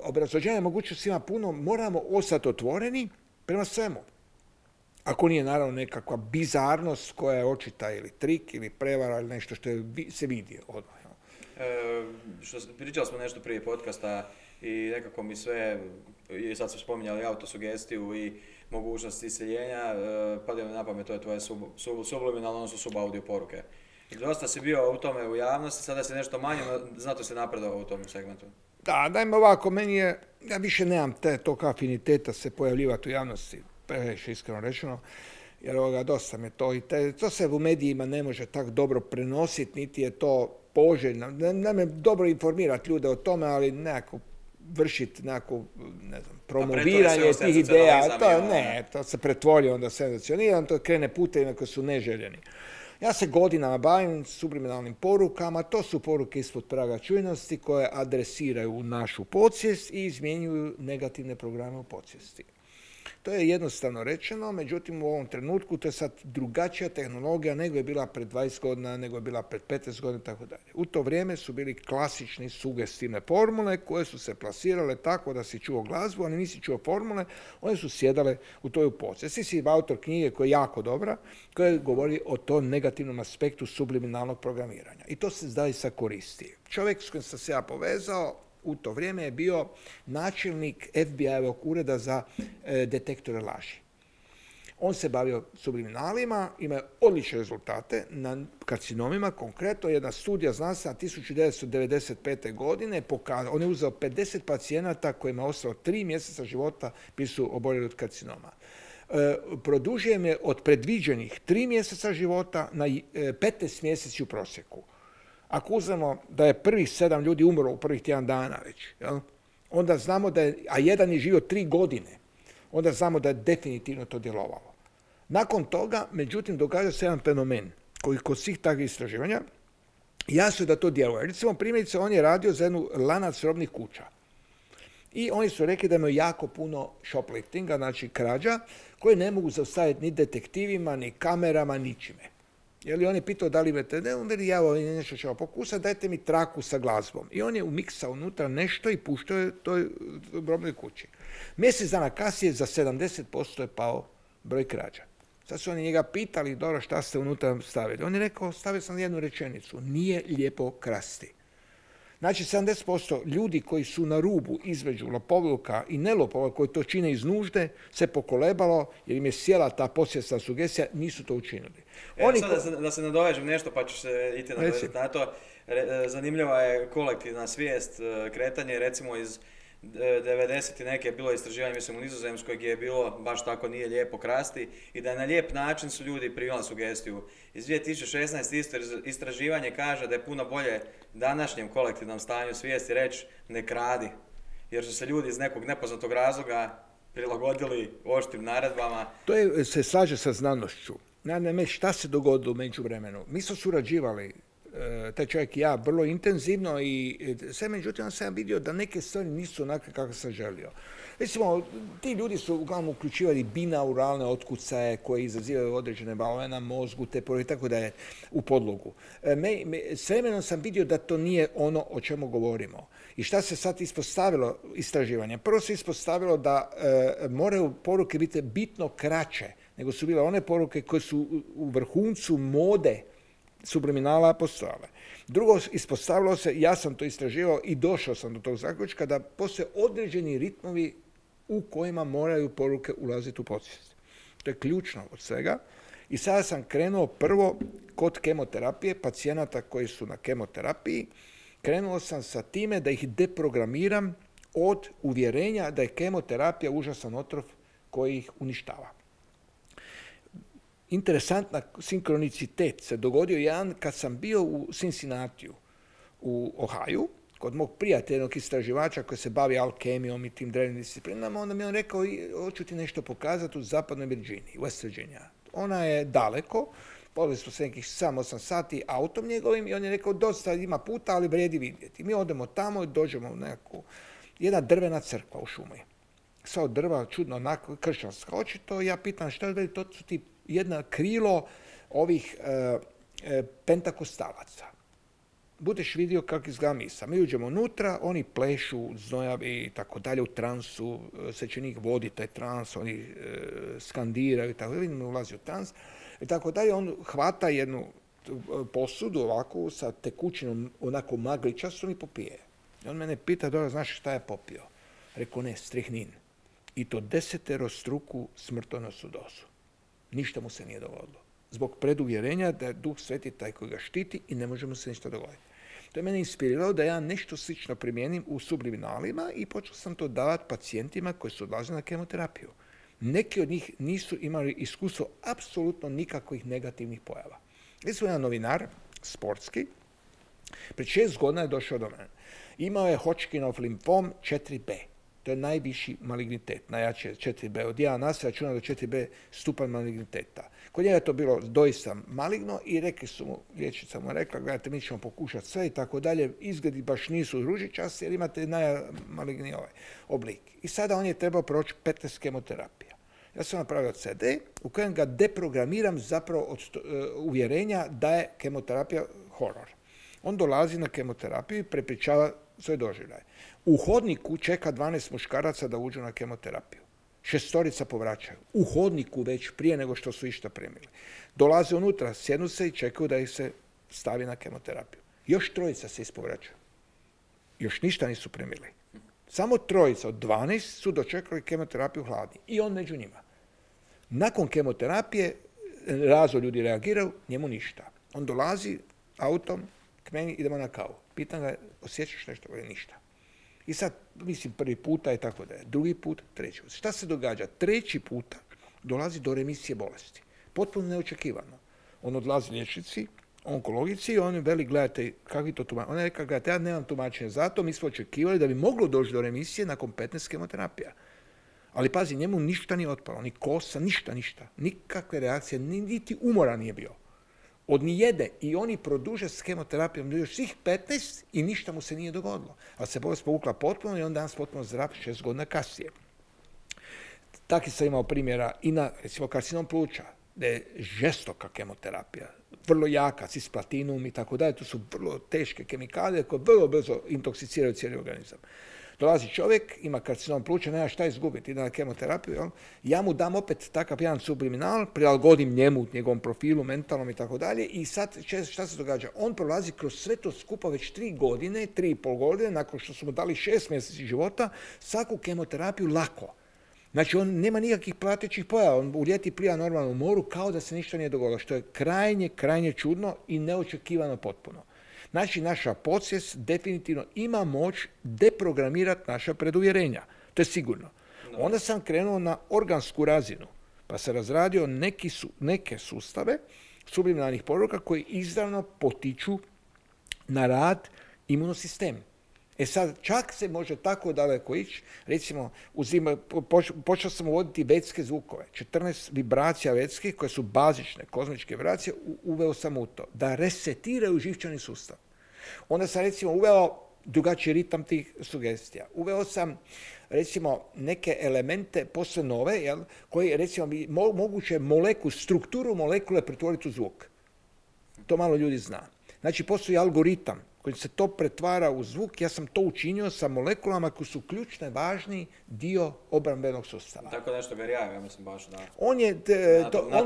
obrazloženje mogućnosti ima puno, moramo ostati otvoreni prema svemu. Ako nije, naravno, nekakva bizarnost koja je očita ili trik ili prevara ili nešto što se vidi odmah. Pričali smo nešto prije podcasta i nekako mi sve, i sad smo spominjali autosugestiju i mogućnost iseljenja, padaju mi na pamet, to je tvoje subliminalno, odnosno subaudio poruke. Dosta si bio u tome u javnosti, sada si nešto manje, no zato si napredovao u tom segmentu. Da, dajme ovako, meni je, ja više nemam tog afiniteta se pojavljivati u javnosti, previše iskreno rečeno, jer dosta me to i to se u medijima ne može tako dobro prenositi, niti je to poželjno. Ne me dobro informirati ljude o tome, ali nekako vršiti nekako, ne znam, promoviranje tih ideja, to se pretvori onda senzacionirano, to krene putevima koji su neželjeni. Ja se godinama bavim subliminalnim porukama, to su poruke ispod praga čujnosti koje adresiraju našu podsvijest i izmjenjuju negativne programe u podsvijesti. To je jednostavno rečeno, međutim u ovom trenutku to je sad drugačija tehnologija nego je bila pred 20 godina, nego je bila pred 15 godina i tako dalje. U to vrijeme su bili klasični sugestivne formule koje su se plasirale tako da si čuo glazbu, ali nisi čuo formule, one su sjedale u toj podsvijest. Ti si autor knjige koja je jako dobra, koja govori o tom negativnom aspektu subliminalnog programiranja. I to se zaista koristi. Čovjek s kojim sam se ja povezao u to vrijeme je bio načelnik FBI-evog ureda za detektore laži. On se bavio subliminalima, ima odlične rezultate na karcinomima, konkretno jedna studija znanstvena 1995. godine pokazala, on je uzeo 50 pacijenata kojima je ostalo 3 mjeseca života, bili su oboljeli od karcinoma. Produžio im je od predviđenih 3 mjeseca života na 15 mjeseci u prosjeku. Ako uzmemo da je prvih 7 ljudi umrlo u prvih tjedan dana već, jel? Onda znamo da je, a jedan je živio 3 godine, onda znamo da je definitivno to djelovalo. Nakon toga, međutim, događa se jedan fenomen koji kod svih takvih istraživanja jasno je da to djeluje. Recimo, primjerice, on je radio za jednu lanac robnih kuća. I oni su rekli da imaju jako puno shopliftinga, znači krađa, koje ne mogu zaustaviti ni detektivima, ni kamerama, ničime. Jer on je pitao da li imate, ne, on veli, ja nešto ćemo pokusati, dajte mi traku sa glazbom. I on je umiksao unutra nešto i puštao je toj robnoj kući. Mjesec dana kasnije za 70% je pao broj krađa. Sad su oni njega pitali, dobro, šta ste unutra stavili? On je rekao, stavio sam jednu rečenicu, nije lijepo krasti. Znači, 70% ljudi koji su na rubu između lopovluka i nelopovluka, koji to čine iz nužde, se pokolebalo jer im je sjela ta podsvjesna sugestija, nisu to učinili. Sad da se nadovežem nešto, pa ću se iti na to. Zanimljiva je kolektivna svijest, kretanje, recimo iz 90. neke je bilo istraživanje, mislim, u Nizozemskoj gdje je bilo baš tako nije lijepo krasti i da na lijep način su ljudi primali sugestiju. Iz 2016. istraživanje kaže da je puno bolje današnjem kolektivnom stanju svijesti reći ne kradi, jer su se ljudi iz nekog nepoznatog razloga prilagodili oštrim naredbama. To se slaže sa znanošću. Naime, šta se dogodilo u međuvremenu? Mi smo surađivali, taj čovjek i ja, vrlo intenzivno i sve, međutim, sam vidio da neke stvari nisu onakve kako sam želio. Recimo, ti ljudi su uglavnom uključivali binauralne otkucaje koje izazivaju određene valove na mozgu, te i tako da je u podlogu. S vremenom sam vidio da to nije ono o čemu govorimo. I šta se sad ispostavilo istraživanje? Prvo se ispostavilo da moraju poruke biti bitno kraće nego su bile one poruke koje su u vrhuncu mode subliminala postojale. Drugo, ispostavilo se, ja sam to istraživao i došao sam do tog zaključka, da postoje određeni ritmovi u kojima moraju poruke ulaziti u podsvijest. To je ključno od svega. I sada sam krenuo prvo kod kemoterapije, pacijenata koji su na kemoterapiji, krenuo sam sa time da ih deprogramiram od uvjerenja da je kemoterapija užasan otrov koji ih uništava. interesantna sinkronicitet se dogodio jedan kad sam bio u Cincinnatiju u Ohaju, kod mog prijatelja, jednog istraživača koji se bavi alkemijom i tim drevnim disciplinama, onda mi je on rekao, hoću ti nešto pokazati u zapadnoj Virginiji, West Virginia. Ona je daleko, poveli smo se nekih 7-8 sati autom njegovim i on je rekao, dosta ima puta, ali vrijedi vidjeti. Mi odemo tamo i dođemo u nekakvu, jedna drvena crkva u šumi. Sva od drva, čudno, onako, kršćanska očito. Ja pitam što je, to su ti jedna krilo ovih pentakostalaca. Budeš vidio kako izgleda misa. Mi uđemo unutra, oni plešu, znojavi i tako dalje u transu, svećenik vodi taj trans, oni skandiraju i tako dalje, vidimo ulazi u trans i tako dalje. On hvata jednu posudu ovako sa tekućinom onako magličastom i popije. I on mene pita, dobro, znaš šta je popio? Rekao, ne, strihnin. I to 10-struku smrtonosnu dozu. Ništa mu se nije dogodilo. Zbog preduvjerenja da je Duh Sveti taj koji ga štiti i ne može mu se ništa dogoditi. To je mene inspiriralo da ja nešto slično primijenim u subliminalima i počeo sam to davati pacijentima koji su odlazili na kemoterapiju. Neki od njih nisu imali iskustvo apsolutno nikakvih negativnih pojava. Recimo jedan novinar, sportski, pred 6 godina je došao do mene. Imao je Hodgkinov limfom 4B. To je najviši malignitet, najjače 4B. Od 1 na sve računa do 4B stupanj maligniteta. Kod njega je to bilo doista maligno i rekli su mu, liječnica mu rekla, gledajte, mi ćemo pokušati sve i tako dalje, izgledi baš nisu ružičasti jer imate najmaligniji oblik. I sada on je trebao proći 15 kemoterapija. Ja sam napravio CD u kojem ga deprogramiram zapravo od uvjerenja da je kemoterapija horor. On dolazi na kemoterapiju i prepričava svoje doživljaje. U hodniku čeka 12 muškaraca da uđu na kemoterapiju. 6 povraćaju. U hodniku već prije nego što su išta primili. Dolaze unutra, sjednu se i čekaju da ih se stavi na kemoterapiju. Još 3 se ispovraćaju. Još ništa nisu primili. Samo 3 od 12 su dočekali kemoterapiju hladni. I on među njima. Nakon kemoterapije razo ljudi reagiraju, njemu ništa. On dolazi autom k meni, idemo na kavu. Pitam ga, osjećaš nešto? Ništa. I sad, mislim, prvi puta i tako da je. Drugi put, treći put. Šta se događa? 3. puta dolazi do remisije bolesti. Potpuno neočekivano. On odlazi liječnici, onkologici i on veli, gledajte, kakvi to tumačenje? Ona je rekla, gledajte, ja nemam tumačenje za to, mi smo očekivali da bi moglo doći do remisije nakon 15 kemoterapija. Ali pazi, njemu ništa nije otpalo, ni kosa, ništa. Nikakve reakcije, niti umora nije bio. Od nijede i oni produže s kemoterapijom do još svih 15 i ništa mu se nije dogodilo. Ali se bolest povukla potpuno i on danas potpuno zdrav 6 godina kasnije. Taki sam imao primjera i na, recimo, karcinom pluća, da je žestoka kemoterapija, vrlo jaka, cisplatinum i tako dalje. To su vrlo teške kemikalije koje vrlo brzo intoksikiraju cijeli organizam. Dolazi čovjek, ima karcinom pluća, nema šta izgubiti, ide na kemoterapiju, jel? Ja mu dam opet takav jedan subliminal, prilagodim njemu, njegovom profilu, mentalnom i tako dalje i sad šta se događa? On prolazi kroz sve to skupa već 3 godine, 3,5 godine, nakon što su mu dali 6 mjeseci života, svaku kemoterapiju lako. Znači, on nema nikakvih pratećih pojava, on u ljeti pliva normalno u moru kao da se ništa nije dogodilo, što je krajnje čudno i neočekivano potpuno. Znači, naša podsvijest definitivno ima moć deprogramirati naša preduvjerenja. To je sigurno. Onda sam krenuo na organsku razinu, pa sam razradio neke sustave subliminalnih poruka koji izravno potiču na rad imunosistem. E sad, čak se može tako daleko ići, recimo, počeo sam uvoditi vetske zvukove, 14 vibracija vetskih koje su bazične, kozmičke vibracije, uveo sam u to, da resetiraju živčani sustav. Onda sam, recimo, uveo drugačiji ritam tih sugestija. Uveo sam, recimo, neke elemente posve nove, jel, koji, recimo, moguće strukturu molekule pretvoriti u zvuk. To malo ljudi zna. Znači, postoji algoritam koji se to pretvara u zvuk, ja sam to učinio sa molekulama koji su ključni, važni dio obrambenog sustava. Tako nešto Berijajev, ja mislim baš da... On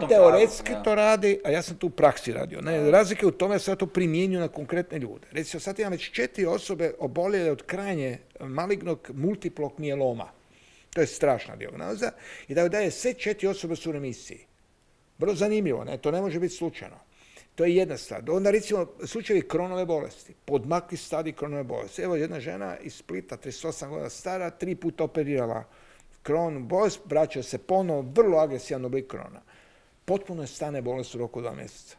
teoretski to radi, a ja sam tu u praksi radio. Razlike u tome se ja to primjenju na konkretne ljude. Recimo, sad imam već 4 osobe oboljele od krajnje malignog multiplog mijeloma. To je strašna dijagnoza. I da je sve 4 osobe su u remisiji. Vrlo zanimljivo, ne? To ne može biti slučajno. To je jedna stvar. Onda, recimo, slučajevi Kronove bolesti, podmakli stadij Kronove bolesti. Evo, jedna žena iz Splita, 38 godina stara, 3 puta operirala Kron bolest, vraća se ponovo, vrlo agresivan oblik Krona. potpuno je stane bolest u roku 2 mjeseca.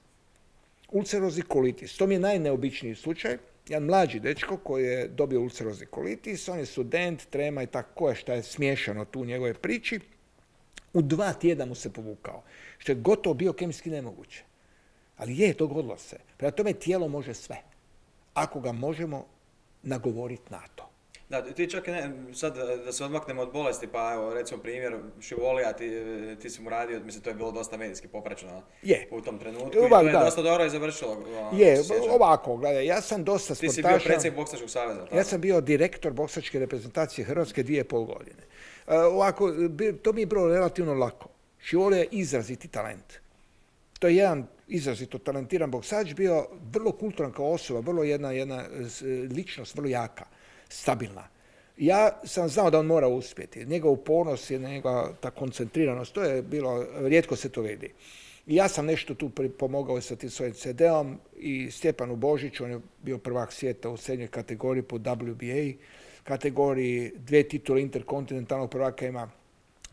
Ulcerozni kolitis, to mi je najneobičniji slučaj. Jedan mlađi dečko koji je dobio ulcerozni kolitis, on je student, trema i tako šta je smiješano tu u njegove priči. U 2 tjedna mu se povukao, što je gotovo biokemijski nemoguće. Ali dogodilo se. Prema tome tijelo može sve, ako ga možemo nagovoriti na to. Da, ti čak sad da se odmaknemo od bolesti, pa evo recimo primjer Šivolija, ti si mu radio, mislim to je bilo dosta medijski popraćeno u tom trenutku i to je dosta dobro i završilo. Ovako, gledaj, ja sam dosta sportaša. Ti si bio predsjednik Boksačkog saveza, tako? Ja sam bio direktor boksačke reprezentacije Hrvatske 2,5 godine. Ovako, to mi je bilo relativno lako. Šivolija je izraziti talent. To je jedan izrazito talentiran boksač, bio vrlo kulturan kao osoba, vrlo jedna ličnost, vrlo jaka, stabilna. Ja sam znao da on mora uspjeti. Njegov upornost i njegova ta koncentriranost, to je bilo, rijetko se to vidi. I ja sam nešto tu pomogao sa tim svojim CD-om i Stjepanu Božiću, on je bio prvak svijeta u srednjoj kategoriji po WBA kategoriji, 2 titule interkontinentalnog prvaka ima.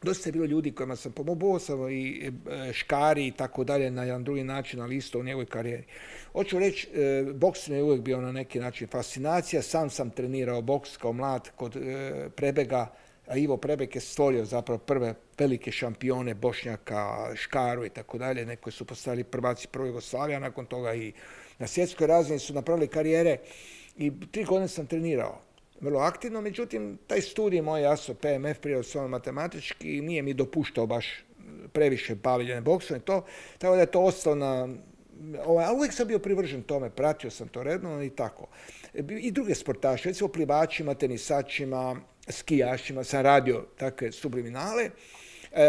Dosta je bilo ljudi kojima sam pomogao, sam i Škari i tako dalje na jedan drugi način, ali isto u njegovoj karijeri. Hoću reći, boks mi je uvijek bio na neki način fascinacija. Sam sam trenirao boks kao mlad kod Prebega, a Ivo Prebeg je stvorio zapravo prve velike šampione Bošnjaka, Škaru i tako dalje. Neki su postali prvaci prve Jugoslavije, a nakon toga i na svjetskoj razini su napravili karijere i 3 godine sam trenirao. Vrlo aktivno, međutim, taj studij moj, jasno, PMF, prirodoslovno matematički, nije mi dopuštao baš previše bavljenja boksom i to, tako da je to ostalo na... Ali uvijek sam bio privržen tome, pratio sam to redno i tako. I druge sportaše, recimo plivačima, tenisačima, skijašima, sam radio takve subliminale.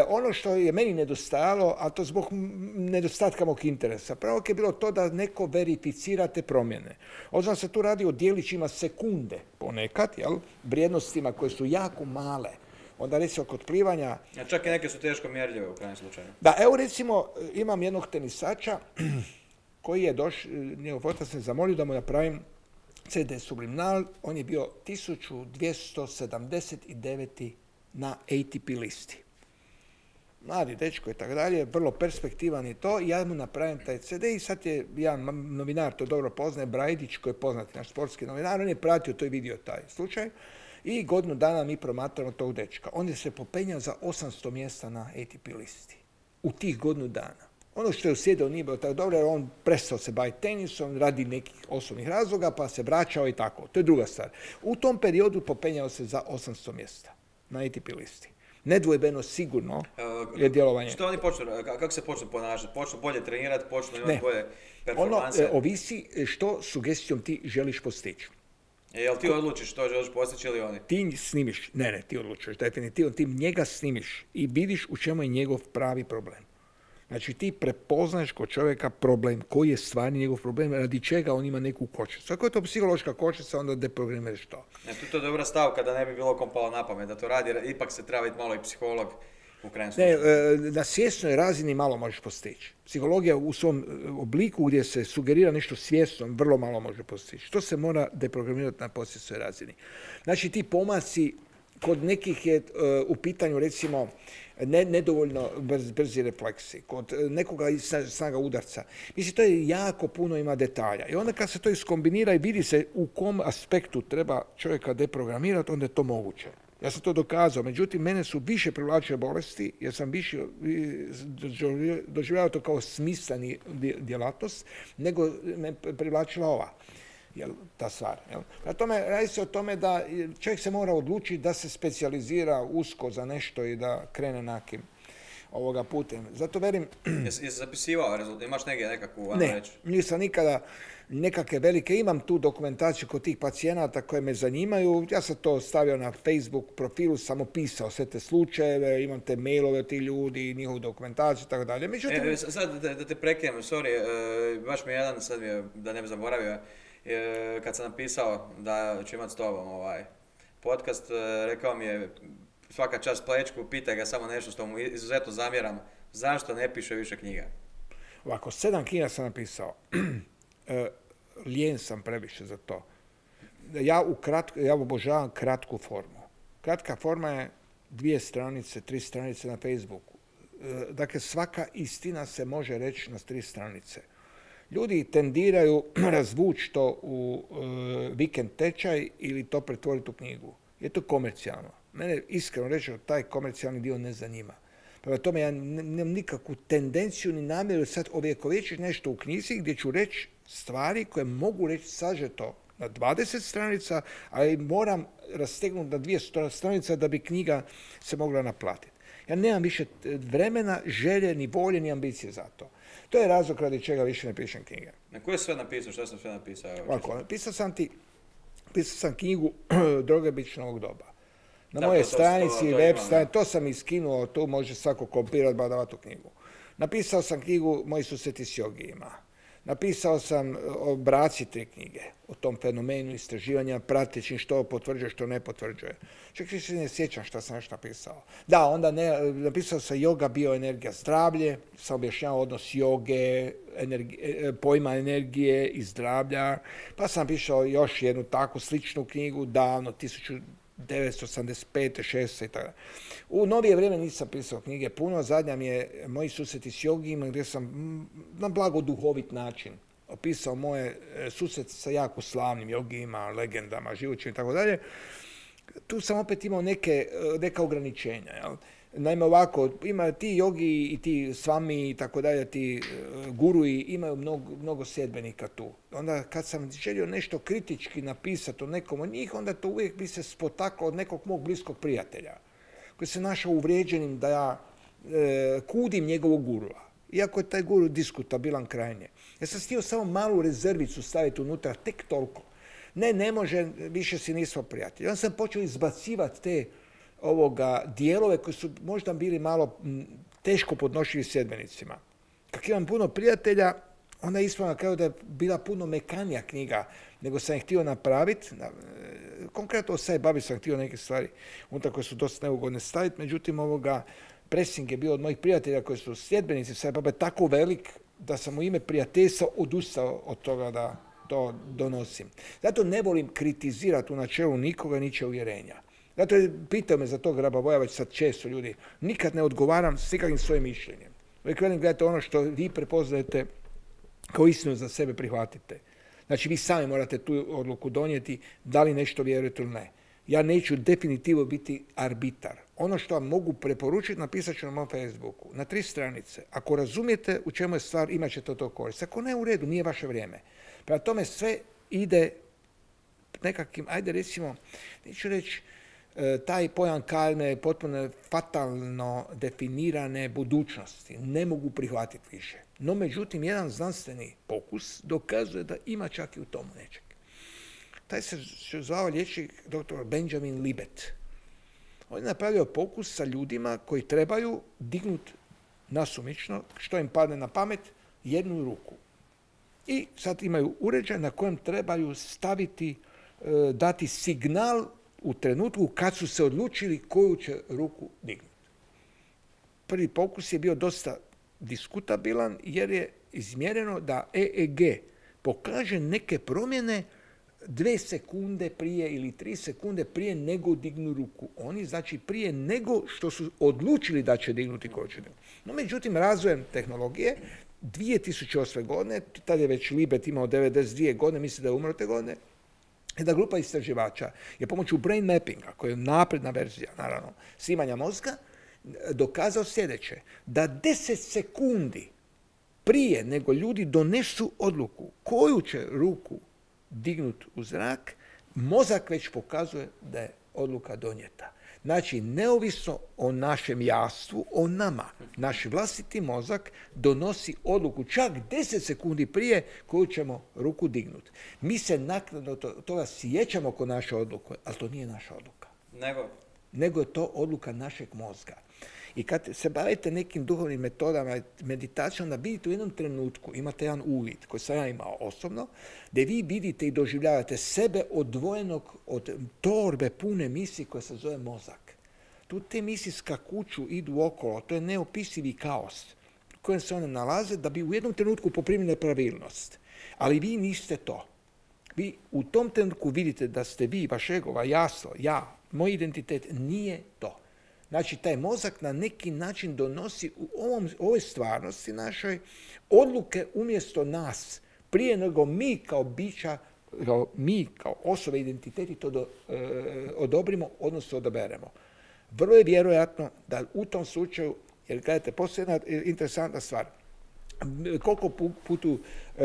Ono što je meni nedostajalo, a to zbog nedostatka mog interesa, pravo je bilo to da neko verificira te promjene. Obzirom se tu radi o dijelićima sekunde ponekad, vrijednostima koje su jako male. Onda recimo kod plivanja... A čak i neke su teško mjerljive u krajnjem slučaju. Da, evo recimo imam jednog tenisača koji je došao, njegov otac me zamolio da mu napravim CD subliminal. On je bio 1279. na ATP listi. Mladi dečko i tako dalje, vrlo perspektivan i to. Ja mu napravim taj CD i sad je jedan novinar, to dobro poznaje, Brajdić, koji je poznati naš sportski novinar, on je pratio to i vidio taj slučaj. I godinu dana mi promatramo tog dečka. On je se popenjao za 800 mjesta na ATP listi. U tih godinu dana. Ono što je usjedao nije bilo tako dobro, jer on prestao se baviti tenisom radi nekih osobnih razloga, pa se vraćao i tako. To je druga stvar. U tom periodu popenjao se za 800 mjesta na ATP listi. Nedvojbeno sigurno je djelovanje. Što oni počnu, kako se počnu ponašati? Počnu bolje trenirati, počnu imati bolje performanse? Ono ovisi što sugestijom ti želiš postići. Jel ti odlučiš što želiš postići ili oni? Ti snimiš, ti odlučuješ definitivno, ti njega snimiš i vidiš u čemu je njegov pravi problem. Znači ti prepoznaš kod čovjeka problem, koji je stvarni njegov problem, radi čega on ima neku kočnicu. Ako je to psihološka kočnica, onda deprogramiraš to. To je dobra stavka da ne bi bilo kom palo na pamet da to radi, jer ipak se treba biti malo i psiholog u krajnjem slučaju. Na svjesnoj razini malo možeš postići. Psihologija u svom obliku gdje se sugerira nešto svjesno, vrlo malo može postići. To se mora deprogramirati na podsvjesnoj razini. Znači ti pomaci kod nekih je u pitanju recimo nedovoljno brzi refleksi, kod nekoga snaga udarca. Mislim, to je jako puno ima detalja. I onda kad se to iskombinira i vidi se u kom aspektu treba čovjeka deprogramirati, onda je to moguće. Ja sam to dokazao, međutim, mene su više privlačile bolesti, jer sam više doživljavao to kao smisleni djelatnost, nego me privlačila ova. Ta stvar. Prema tome, radi se o tome da čovjek se mora odlučiti da se specijalizira usko za nešto i da krene nekim putem. Zato verim... Jesi zapisivao rezultat? Imaš nekakvu, ne, nisam nikada nekakve velike. Imam tu dokumentaciju kod tih pacijenata koje me zanimaju. Ja sam to stavio na Facebook profilu, sam opisao sve te slučajeve, imam te mailove od tih ljudi, njihovu dokumentaciju i tako dalje. Međutim... Sad da te prekinem, sorry, baš mi je jedan, sad mi je, da ne bi zaboravio, kad sam napisao da ću imati s tobom podcast, rekao mi je svaka čast Plečku, pitaj ga samo nešto što mu izuzetno zamjeram, zašto ne piše više knjiga? Ovako, 7 knjiga sam napisao. Lijen sam previše za to. Ja obožavam kratku formu. Kratka forma je 2 stranice, 3 stranice na Facebooku. dakle svaka istina se može reći na 3 stranice. Ljudi tendiraju razvući to u vikend tečaj ili to pretvoriti u knjigu. Je to komercijalno. Mene iskreno reći, taj komercijalni dio ne zanima. Prema tome, ja nemam nikakvu tendenciju ni namjeru sad ovjekovječiti nešto u knjizi gdje ću reći stvari koje mogu reći sažeto na 20 stranica, ali moram rastegnuti na 200 stranica da bi knjiga se mogla naplatiti. Ja nemam više vremena, želje, ni volje, ni ambicije za to. To je razlog radi čega više ne pišem knjige. Na koje sve napisao? Što sam sve napisao? Ovako, napisao sam knjigu Droge bičnog doba. Na moje stranici, web stranici, to sam iskinuo, tu može svako kopirati, badava tu knjigu. Napisao sam knjigu Moji susreti s jogijima. Napisao sam o braci 3 knjige, o tom fenomenu istraživanja, prateći što potvrđuje, što ne potvrđuje. Čak se ne sjećam što sam još napisao. Da, onda napisao sam Yoga, bioenergija, zdravlje, sam objašnjavao odnos joge, pojma energije i zdravlja, pa sam pisao još jednu takvu sličnu knjigu davno, 1985. 6. i tako. U novije vrijeme nisam pisao knjige puno, zadnja mi je Moji susreti s jogijima gdje sam na blago duhovit način opisao moje susrete sa jako slavnim jogijima, legendama, živočima i tako dalje. Tu sam opet imao neka ograničenja. Jel? Naime ovako, ima ti jogi i ti svami i tako dalje, ti guruji imaju mnogo sljedbenika tu. Onda kad sam želio nešto kritički napisati o nekom od njih, onda to uvijek bi se spotaklo od nekog mog bliskog prijatelja koji se našao uvrijeđenim da ja kudim njegovog gurua. Iako je taj guru diskutabilan krajnje. Ja sam htio samo malu rezervicu staviti unutra, tek toliko. Ne može, više si nismo prijatelji. Onda sam počeo izbacivati te dijelove koji su možda bili malo teško podnošljivi sljedbenicima. Kako imam puno prijatelja, onda je ispalo na kraju da je bila puno mekanija knjiga nego sam je htio napraviti. Konkretno o Sai Babi sam htio neke stvari unutar koje su dosta neugodne staviti, međutim pressing je bio od mojih prijatelja koji su sljedbenici Sai Babe tako velik da sam u ime prijateljstva odustao od toga da to donosim. Zato ne volim kritizirati u načelu nikoga ničije uvjerenja. Zato pitao me za to Grabavoja već sad često ljudi. Nikad ne odgovaram s nikakvim svojim mišljenjem. Uvijek velim, gledajte ono što vi prepoznajete kao istinu za sebe prihvatite. Znači vi sami morate tu odluku donijeti da li nešto vjerujete ili ne. Ja neću definitivno biti arbitar. Ono što vam mogu preporučiti napisat ću na mom Facebooku. Na 3 stranice. Ako razumijete u čemu je stvar, imat ćete od toga korist. Ako ne, u redu, nije vaše vrijeme. Prema tome sve ide nekakvim, ajde recimo, neću reći, taj pojam karme potpuno fatalno definirane budućnosti. Ne mogu prihvatiti više. No, međutim, jedan znanstveni pokus dokazuje da ima čak i u tomu nečeg. Taj se zvao liječnik dr. Benjamin Libet. On je napravio pokus sa ljudima koji trebaju dignuti nasumično, što im padne na pamet, jednu ruku. I sad imaju uređaj na kojem trebaju staviti, dati signal u trenutku kad su se odlučili koju će ruku dignuti. Prvi pokus je bio dosta diskutabilan jer je izmjereno da EEG pokaže neke promjene 2 sekunde prije ili 3 sekunde prije nego dignu ruku. Oni znači prije nego što su odlučili da će dignuti koju će dignuti. No međutim, razvojem tehnologije 2008. godine, tad je već Libet imao 92 godine, misli da je umro te godine, jedna grupa istraživača je pomoću brain mappinga, koja je napredna verzija, naravno, snimanja mozga, dokazao sljedeće, da 10 sekundi prije nego ljudi donesu odluku koju će ruku dignut u zrak, mozak već pokazuje da je odluka donijeta. Znači, neovisno o našem jastvu, o nama, naš vlastiti mozak donosi odluku čak 10 sekundi prije koju ćemo ruku dignuti. Mi se naknadno toga sjećamo ko naša odluka, ali to nije naša odluka. Nego je to odluka našeg mozga. I kad se bavite nekim duhovnim metodama, meditacijom, da vidite u jednom trenutku, imate jedan uvid koji sam ja imao osobno, gdje vi vidite i doživljavate sebe odvojenog od torbe pune misli koja se zove mozak. Tu te misli skakuću, idu okolo, to je neopisivi kaos u kojem se one nalaze da bi u jednom trenutku poprimili pravilnost. Ali vi niste to. Vi u tom trenutku vidite da ste vi, vaš ego, jasno, ja, moj identitet nije to. Znači, taj mozak na neki način donosi u ovoj stvarnosti našoj odluke umjesto nas, prije nego mi kao bića, kao osobe, identiteti to odobrimo, odnosno odaberemo. Vrlo je vjerojatno da u tom slučaju, jer gledajte, postoji jedna interesantna stvar, koliko putu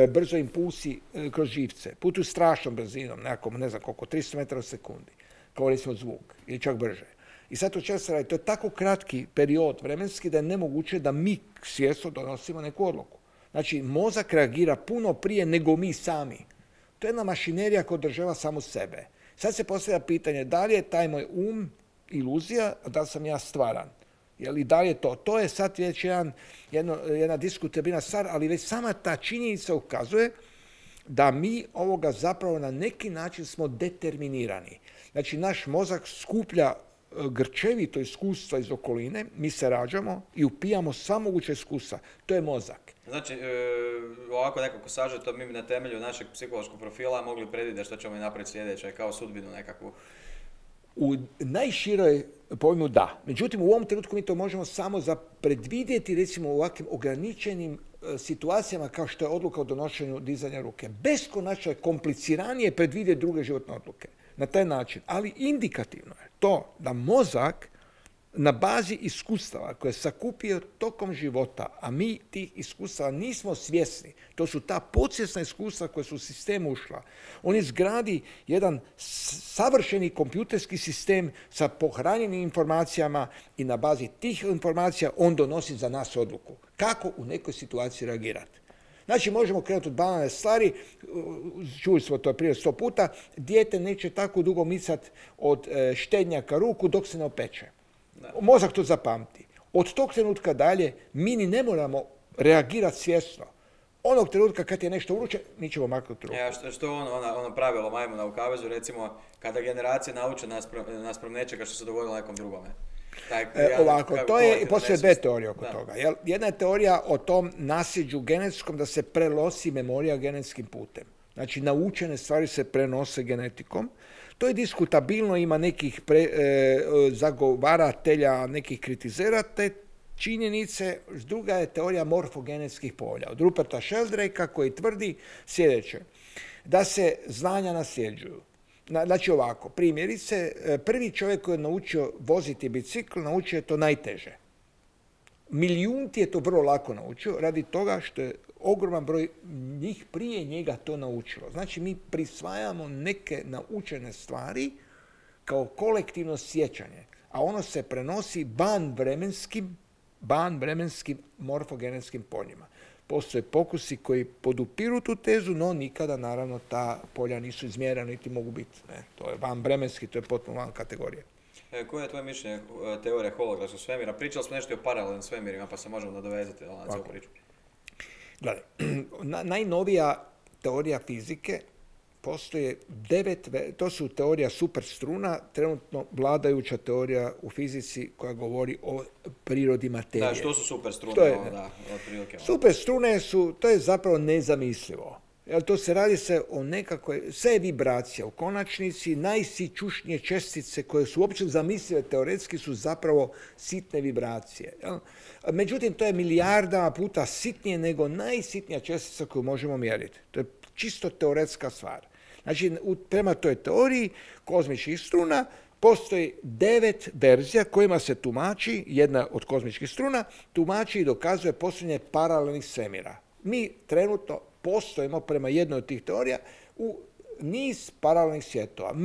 brzo impulsi kroz živce, putu strašnom brzinom, nekako, ne znam koliko, 300 metara u sekundi, kao recimo zvuk, ili čak brže. I sad to često radi, to je tako kratki period vremenski da je nemoguće da mi svjesno donosimo neku odluku. Znači, mozak reagira puno prije nego mi sami. To je jedna mašinerija koja održava samo sebe. Sad se postavlja pitanje, da li je taj moj iluzija, a da li sam ja stvaran? I da li je to? To je sad već jedna diskutabilna stvar, ali već sama ta činjenica ukazuje da mi ovoga zapravo na neki način smo determinirani. Znači, naš mozak skuplja grčevito iskustva iz okoline, mi se rađamo i upijamo sva moguća iskustva. To je mozak. Znači, ovako nekako sažeto, mi bi na temelju našeg psihološkog profila mogli predvidjeti što ćemo i napraviti sljedeće, kao sudbinu nekakvu. U najširoj pojmu da. Međutim, u ovom trenutku mi to možemo samo za predvidjeti, recimo u ovakvim ograničenim situacijama kao što je odluka o donošenju dizanja ruke. Beskonačno je kompliciranije predvidjeti druge životne odluke. Na taj način. Ali indikativno je to da mozak na bazi iskustava koje je sakupio tokom života, a mi tih iskustava nismo svjesni, to su ta podsvjesna iskustva koja su u sistemu ušla, on izgradi jedan savršeni kompjuterski sistem sa pohranjenim informacijama i na bazi tih informacija on donosi za nas odluku. Kako u nekoj situaciji reagirati. Znači, možemo krenuti od banalne stvari, čuli smo to prije 100 puta, dijete neće tako dugo micati od štednjaka ruku dok se ne opeče. Mozak to zapamti. Od tog trenutka dalje mi ni ne moramo reagirati svjesno. Onog trenutka kad je nešto vruće, mi ćemo maknuti ruku. Što ono pravilo majmuna u kavezu, recimo, kada generacije nauče naspram nečega što se dogodilo nekom drugome. Ovako, to je, postoje dve teorije oko toga. Jedna je teorija o tom nasljeđu genetskom da se prenosi memorija genetskim putem. Znači, naučene stvari se prenose genetikom. To je diskutabilno, ima nekih zagovaratelja, nekih kritizera te činjenice. Druga je teorija morfogenetskih polja od Ruperta Sheldrake'a koji tvrdi sljedeće, da se znanja nasljeđuju. Znači ovako, primjerice, prvi čovjek koji je naučio voziti bicikl, naučio je to najteže. Milijunti je to vrlo lako naučio, radi toga što je ogroman broj njih prije njega to naučilo. Znači, mi prisvajamo neke naučene stvari kao kolektivno sjećanje, a ono se prenosi banvremenskim morfogenetskim poljima. Postoje pokusi koji podupiru tu tezu, no nikada, naravno, ta polja nisu izmjerena, niti mogu biti. To je vanvremenski, to je potpuno van kategorije. Koje je tvoje mišljenje teorije holografskog svemira? Pričali smo nešto o paralelnim svemirima, pa se možemo nadovezati na cijelu priču. Gledaj, najnovija teorija fizike postoje 9, to su teorija superstruna, trenutno vladajuća teorija u fizici koja govori o prirodi materije. Da, što su superstrune? Superstrune su, to je zapravo nezamislivo. Jer to se radi o nekakvoj, sve je vibracija. U konačnici najsićušnije čestice koje su uopće zamislive teoretski su zapravo sitne vibracije. Međutim, to je milijardama puta sitnije nego najsitnija čestica koju možemo mjeriti. To je čisto teoretska stvar. Znači, prema toj teoriji kozmičkih struna postoji 9 verzija kojima se tumači, jedna od kozmičkih struna, tumači i dokazuje postojanje paralelnih svemira. Mi trenutno postojimo prema jednoj od tih teorija u niz paralelnih svjetova.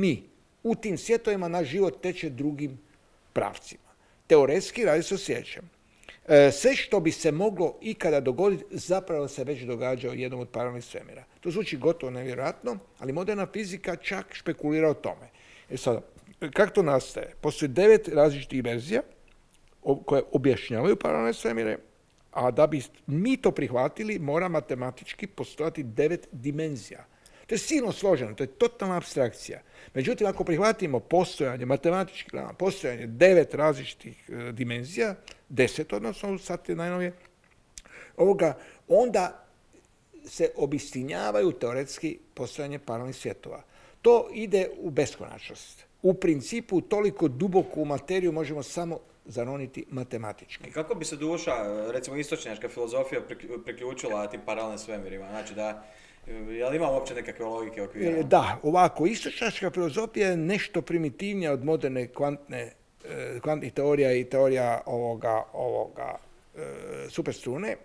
U tim svjetovima naš život teče drugim pravcima. Teoretski radi se o sljedećem. Sve što bi se moglo ikada dogoditi zapravo se već događa u jednom od paralelnih svemira. To zvuči gotovo nevjerojatno, ali moderna fizika čak špekulira o tome. Sada, kako to nastaje? Postoji 9 različitih verzija koje objašnjavaju paralelne svemire, a da bi mi to prihvatili, mora matematički postojati 9 dimenzija. To je silno složeno, to je totalna apstrakcija. Međutim, ako prihvatimo postojanje, matematički gledano, postojanje 9 različitih dimenzija, 10 odnosno, sad je najnovije, onda se obistinjavaju teoretski postojanje paralelnih svjetova. To ide u beskonačnost. U principu, toliko duboku materiju možemo samo zaroniti matematički. Kako bi se duša, recimo istočnjačka filozofija, priključila tim paralelnim svemirima? Znači da, je li ima uopće nekakve logike okvira? Da, ovako, istočnjačka filozofija je nešto primitivnija od moderne kvantnih teorija i teorija ovoga superstrune.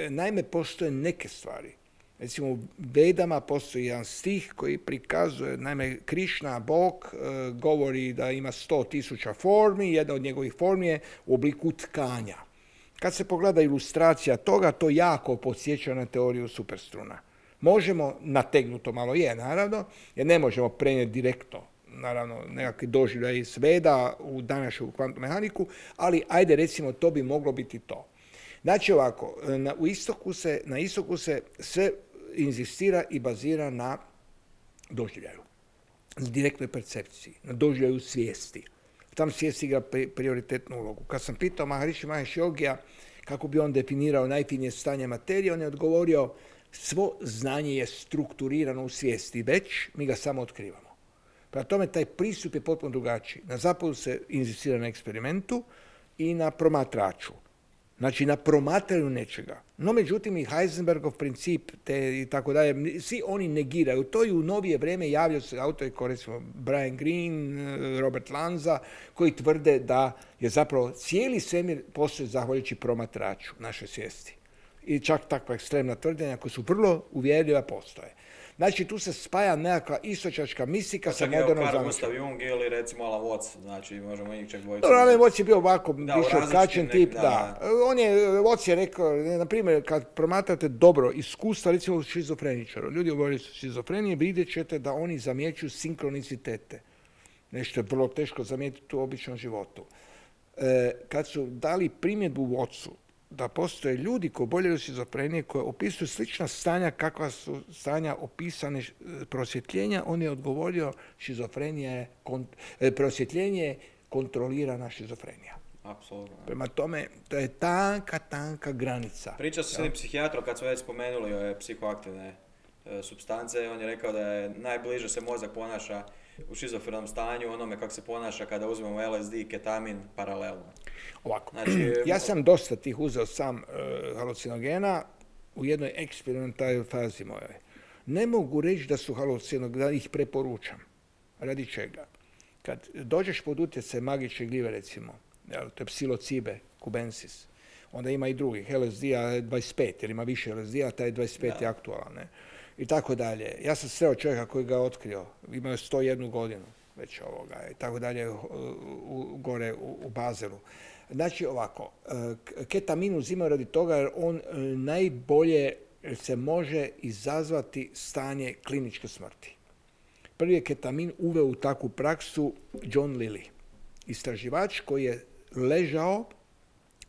Naime, postoje neke stvari. Recimo, u Vedama postoji jedan stih koji prikazuje, naime, Krišna, Bog, govori da ima 100.000 formi, jedna od njegovih formi je u obliku tkanja. Kad se pogleda ilustracija toga, to jako podsjeća na teoriju superstruna. Možemo, nategnuto malo je, naravno, jer ne možemo prenijeti direktno, naravno, nekakvi doživljaj iz Veda u današnju kvantnu mehaniku, ali ajde, recimo, to bi moglo biti to. Znači ovako, na istoku se sve inzistira i bazira na doživljaju, na direktnoj percepciji, na doživljaju svijesti. Tam svijest igra prioritetnu ulogu. Kad sam pitao Maharishi Mahesh Yogija kako bi on definirao najfinije stanje materije, on je odgovorio svo znanje je strukturirano u svijesti, već mi ga samo otkrivamo. Prema tome, taj pristup je potpuno drugačiji. Na zapadu se inzistira na eksperimentu i na promatraču. Znači, na promatranju nečega. No, međutim, i Heisenbergov princip i tako dalje, svi oni negiraju. To i u novije vrijeme javljaju se autori kao recimo Brian Greene, Robert Lanza, koji tvrde da je zapravo cijeli svemir postoji zahvaljujući promatraču naše svijesti. I čak takva ekstremna tvrđenja koja su vrlo uvjerljiva postoje. Znači, tu se spaja nekakva istočnjačka mistika sa modernom zamišljom. Gustav Jung ili recimo Alan Watts, znači možemo njih čak dvojicu. Alan Watts je bio ovako više odkačen tip, da. Watts je rekao, na primjer, kad promatrate dobro iskustva, recimo šizofreničara, ljudi govorili su šizofrenije, vidjet ćete da oni zamjećuju sinkronicitete. Nešto je vrlo teško zamijetiti u običnom životu. Kad su dali primjedbu Wattsu, da postoje ljudi koji oboljeli od šizofrenije, koji opisuju slična stanja kakva su stanja opisane prosvjetljenja, on je odgovorio prosvjetljenje je kontrolirana šizofrenija. Apsolutno. Prema tome, to je tanka granica. Priča se s jednim psihijatrom, kad smo već spomenuli ove psihoaktivne supstance, on je rekao da je najbliže se mozak ponaša u šizofrenom stanju onome kako se ponaša kada uzmemo LSD i ketamin paralelno. Ovako, znači, ja sam dosta tih uzeo sam halucinogena u jednoj eksperimentalnoj fazi mojoj. Ne mogu reći da su halucinogeni, da ih preporučam. Radi čega? Kad dođeš pod utjecaj magične gljive, recimo, to je psilocibe cubensis, onda ima i drugih, LSD-a 25, jer ima više LSD-a, taj 25 je aktualan, ne? I tako dalje. Ja sam sreo čovjeka koji ga otkrio, imao je 101 godinu već ovoga, i tako dalje, gore u Bazelu. Znači ovako, ketamin uzimaju radi toga jer on najbolje se može izazvati stanje kliničke smrti. Prvi je ketamin uveo u takvu praksu John Lilly, istraživač koji je ležao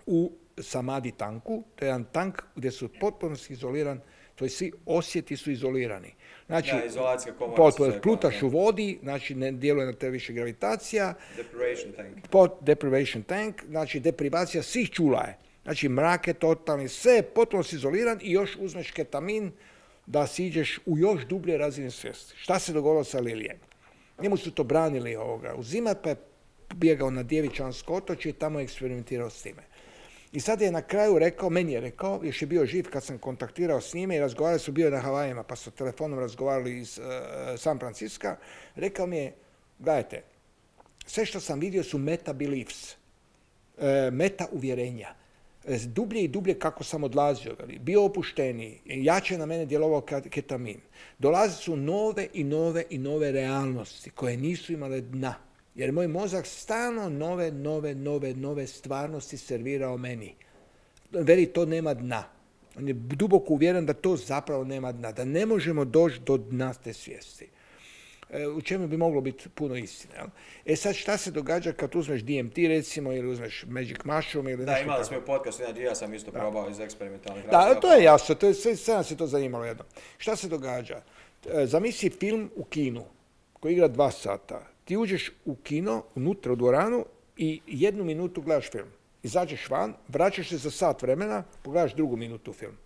u samadi tanku, to je jedan tank gdje su potpuno izoliran, to je svi osjeti su izolirani. Znači, plutaš u vodi, znači ne djeluje na te više gravitacija. Deprivation tank, znači deprivacija svih čula je. Znači mrak je totalni, sve je potpuno izoliran i još uzmeš ketamin da siđeš u još dublje razine svijesti. Šta se dogodilo sa Lilijem? Njemu su to branili uzimat, pa je bjegao na Djevičansko otočje i tamo je eksperimentirao s time. I sad je na kraju rekao, meni je rekao, još je bio živ kad sam kontaktirao s njime i razgovarali su, bio na Havajima, pa su telefonom razgovarali iz San Francisca, rekao mi je, gledajte, sve što sam vidio su meta beliefs, meta uvjerenja. Dublje i dublje kako sam odlazio, bio opušteniji, jače na mene djelovao ketamin. Dolaze su nove i nove realnosti koje nisu imale dna. Jer moj mozak stalno nove stvarnosti servirao meni. Veli, to nema dna. On je duboko uvjeren da to zapravo nema dna, da ne možemo doći do dna te svijesti. U čemu bi moglo biti puno istine. Jel? Sad šta se događa kad uzmeš DMT recimo ili uzmeš Magic Mushroom ili nešto tako? Da, imali smo u podcastu, ja sam isto probao iz eksperimentalnih razloga. Da, to je jasno, sve nas je to zanimalo jedno. Šta se događa? Zamisli film u kinu koji igra 2 sata. Ti uđeš u kino, unutra u dvoranu i 1 minutu gledaš film. Izađeš van, vraćaš se za sat vremena, pogledaš 2 minutu film.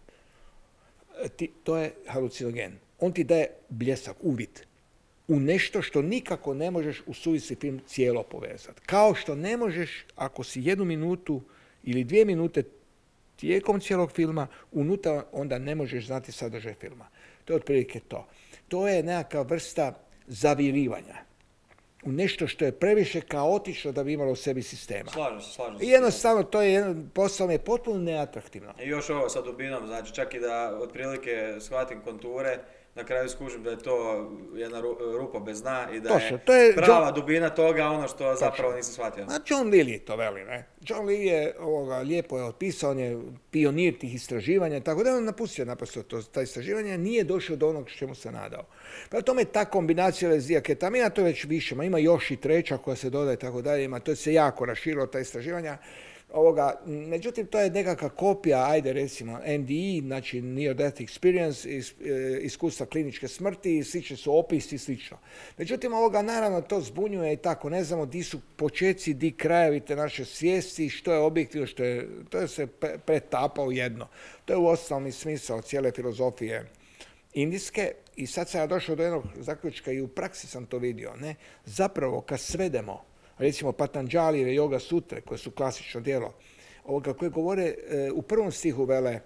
To je halucinogen. On ti daje bljesak, uvid. u nešto što nikako ne možeš u suvisli film cijelo povezati. Kao što ne možeš, ako si 1 minutu ili 2 minute tijekom cijelog filma, unutra onda ne možeš znati sadržaj filma. To je otprilike to. To je nekakva vrsta zavirivanja u nešto što je previše kaotično da bi imalo u sebi sistema. Slažem se. I jednostavno, to je posao je potpuno neatraktivno. I još ovo sa dubinom, znači čak i da otprilike shvatim konture, na kraju skužim da je to jedna rupa bez dna i da je prava dubina toga ono što zapravo nisam shvatio. A John Lilly to veli, ne? John Lilly je lijepo je opisao, on je pionir tih istraživanja, tako da je on napustio naprosto ta istraživanja, nije došao do onog čemu se nadao. Prema tome ta kombinacija lezija ketamina, to je već više, ima još i treća koja se dodaje, tako dalje, to se jako raširilo ta istraživanja. Međutim, to je nekakva kopija, ajde recimo NDE, znači Near Death Experience, iskustva kliničke smrti, i slični su opisi i slično. Međutim, naravno to zbunjuje i tako, ne znamo di su počeci, di krajevi te naše svijesti, što je objektivno, to se pretapa u jedno. To je uostalom i smisao cijele filozofije indijske i sad sam ja došao do jednog zaključka i u praksi sam to vidio. Ne? Zapravo, kad svedemo recimo Patanđalijeve Yoga sutre, koje su klasično djelo, koje govore u prvom stihu vele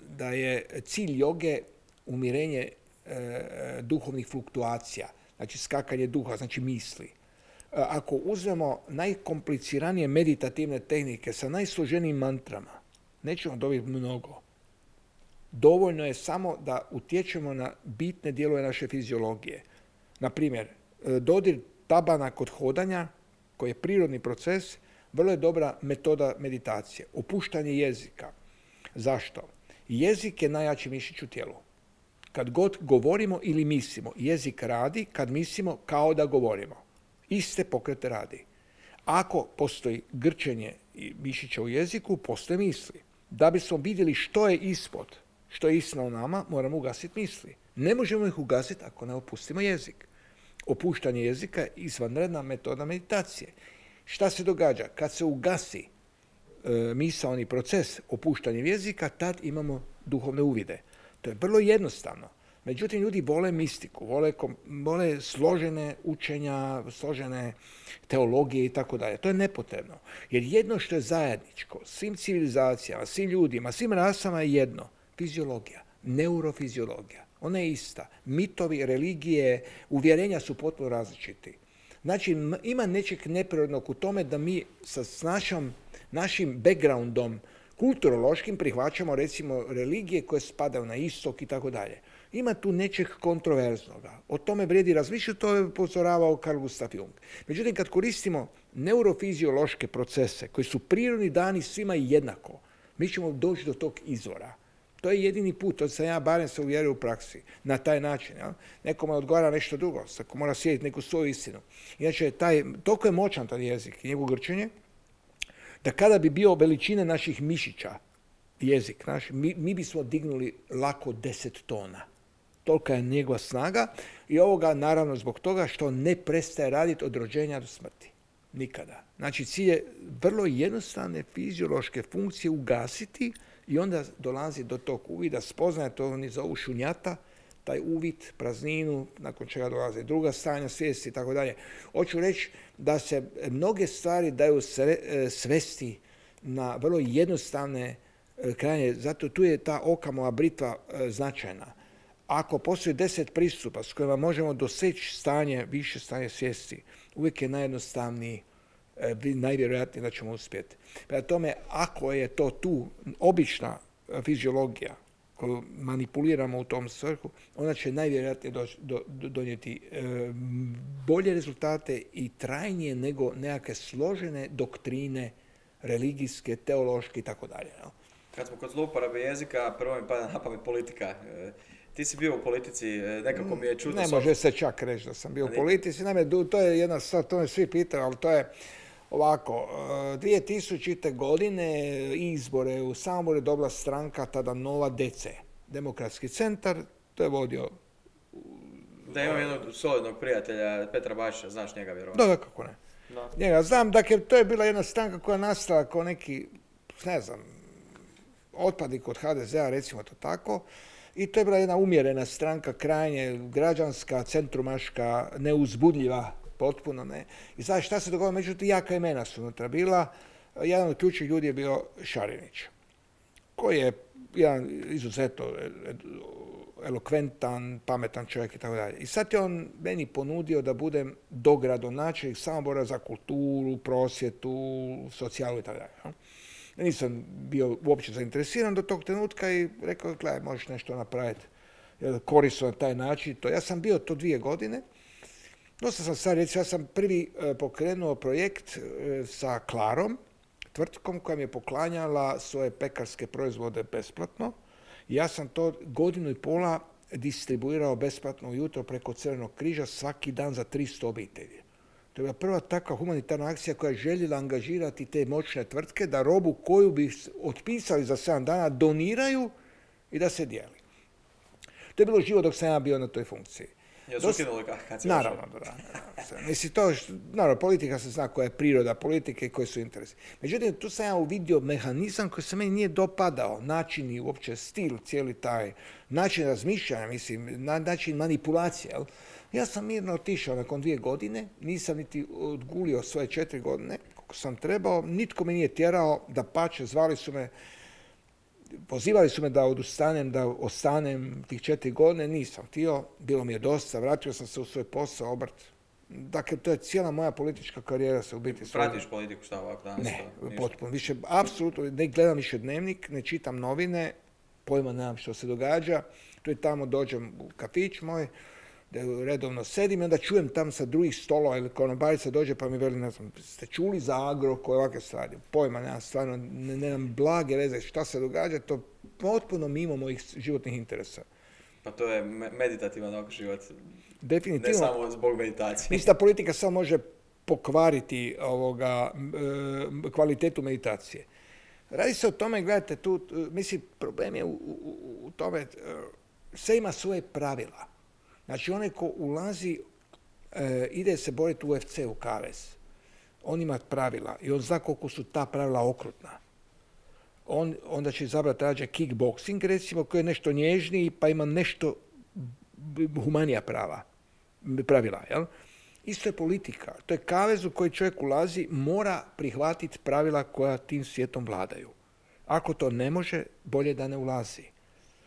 da je cilj joge umirenje duhovnih fluktuacija, znači skakanje duha, znači misli. Ako uzmemo najkompliciranije meditativne tehnike sa najsloženijim mantrama, nećemo dobiti mnogo. Dovoljno je samo da utječemo na bitne dijelove naše fiziologije. Na primjer, dodir tabana kod hodanja, koji je prirodni proces, vrlo je dobra metoda meditacije. Opuštanje jezika. Zašto? Jezik je najjači mišić u tijelu. Kad god govorimo ili mislimo, jezik radi kad mislimo kao da govorimo. Iste pokrete radi. Ako postoji grčenje mišića u jeziku, postoje misli. Da bismo vidjeli što je ispod, što je istina o nama, moramo ugasiti misli. Ne možemo ih ugasiti ako ne opustimo jezik. Opuštanje jezika je izvanredna metoda meditacije. Šta se događa? Kad se ugasi misaoni proces opuštanjem jezika, tad imamo duhovne uvide. To je vrlo jednostavno. Međutim, ljudi vole mistiku, vole složene učenja, složene teologije i tako dalje. To je nepotrebno. Jer jedno što je zajedničko svim civilizacijama, svim ljudima, svim rasama je jedno. Fiziologija, neurofiziologija. Ona je ista. Mitovi, religije, uvjerenja su potpuno različiti. Znači, ima nečeg neprirodnog u tome da mi sa našim backgroundom kulturološkim prihvaćamo, recimo, religije koje spadaju na istok i tako dalje. Ima tu nečeg kontroverznoga. O tome vrijedi razmišljati, to je upozoravao Carl Gustav Jung. Međutim, kad koristimo neurofiziološke procese koji su prirodni dani svima jednako, mi ćemo doći do tog izvora. To je jedini put, to sam ja barem se uvjerio u praksi, na taj način. Ja? Nekome odgovara nešto drugo, ako mora slijediti neku svoju istinu. Inače, toliko je moćan taj jezik i njegovo grčenje, da kada bi bio veličine naših mišića, jezik naš, mi bismo dignuli lako 10 tona. Tolika je njegova snaga i ovoga naravno zbog toga što ne prestaje raditi od rođenja do smrti. Nikada. Znači, cilj je vrlo jednostavne fiziološke funkcije ugasiti i onda dolazi do tog uvida, spoznaje, to oni zovu šunjata, taj uvid, prazninu, nakon čega dolaze druga stanja svijesti i tako dalje. Hoću reći da se mnoge stvari daju svesti na vrlo jednostavne krajnje, zato tu je ta Okamova britva značajna. Ako postoji 10 pristupa s kojima možemo doseći više stanje svijesti, uvijek je najjednostavniji, najvjerojatnije da ćemo uspjeti. Prema tome, ako je to tu obična fiziologija koju manipuliramo u tom svrhu, ona će najvjerojatnije donijeti bolje rezultate i trajnije nego nekakve složene doktrine religijske, teološke i tako dalje. Kad smo kod zlouporabe jezika, prvo mi pada na pamet politika. Ti si bio u politici, nekako mi je čudno. Ne može se čak reći da sam bio u politici. To je jedna stvar, to me svi pitaju, ali to je ovako. 2000. godine izbore u Samoboru je dobila stranka, tada Nova DC, Demokratski centar, to je vodio... Da, imam jednog solidnog prijatelja, Petra Bašića, znaš njega vjerovatno? Da, kako ne. No. Njega znam, dakle, to je bila jedna stranka koja nastala kao neki, ne znam, otpadnik kod HDZ-a, recimo to tako, i to je bila jedna umjerena stranka, krajnje građanska, centrumaška, neuzbudljiva, potpuno ne. I sad šta se dogodilo? Međutim, jaka imena su unutra bila. Jedan od ključnih ljudi je bio Šarinić, koji je jedan izuzetno elokventan, pametan čovjek i tako dalje. I sad je on meni ponudio da budem dogradonačelnik Samobora za kulturu, prosvjetu, socijalu i tako dalje. Nisam bio uopće zainteresiran do tog trenutka i rekao, gledaj, možeš nešto napraviti korisno na taj način. Ja sam bio to 2 godine. Dosta sam sad, recimo, ja sam prvi pokrenuo projekt sa Klarom, tvrtkom koja mi je poklanjala svoje pekarske proizvode besplatno. Ja sam to 1,5 godine distribuirao besplatno ujutro preko Crvenog križa svaki dan za 300 obitelji. To je bila prva takva humanitarna akcija koja je željela angažirati te moćne tvrtke da robu koju bi otpisali za 7 dana doniraju i da se dijeli. To je bilo živo dok sam ja bio na toj funkciji. Jesu ukinuli kad se naravno, da. Mislim, naravno, politika se zna koja je priroda politike i koji su interesi. Međutim, tu sam ja uvidio mehanizam koji se meni nije dopadao, način i uopće stil, cijeli taj način razmišljanja, mislim, način manipulacije. Jel? Ja sam mirno otišao nakon 2 godine, nisam niti odgulio svoje 4 godine, koliko sam trebao, nitko me nije tjerao, dapače, zvali su me, pozivali su me da odustanem, da ostanem tih 4 godine, nisam htio, bilo mi je dosta, vratio sam se u svoj posao, obrt. Dakle, to je cijela moja politička karijera se u biti... Pratiš politiku šta ovako danas? Ne, potpuno. Više, apsolutno, ne gledam više dnevnik, ne čitam novine, pojma nemam što se događa. Tu i tamo dođem u kafić moj, da redovno sedim i onda čujem tam sa drugih stolova ili konobarica dođe pa mi veli, ne znam, ste čuli za Agrokor, ovakve stvari. Pojma nemam, stvarno, nemam blage veze šta se događa, to potpuno mimo mojih životnih interesa. Pa to je meditativan život. Definitivno. Ne samo zbog meditacije. Mislim da politika samo može pokvariti kvalitetu meditacije. Radi se o tome, gledajte, tu, mislim, problem je u tome, sve ima svoje pravila. Znači, onaj ko ulazi, ide se boriti u UFC, u kavez. On ima pravila i on zna koliko su ta pravila okrutna. Onda će izabrati rađe kickboxing, recimo, koji je nešto nježniji, pa ima nešto humanija pravila. Jel? Isto je politika. To je kavez u koji čovjek ulazi, mora prihvatiti pravila koja tim svijetom vladaju. Ako to ne može, bolje da ne ulazi.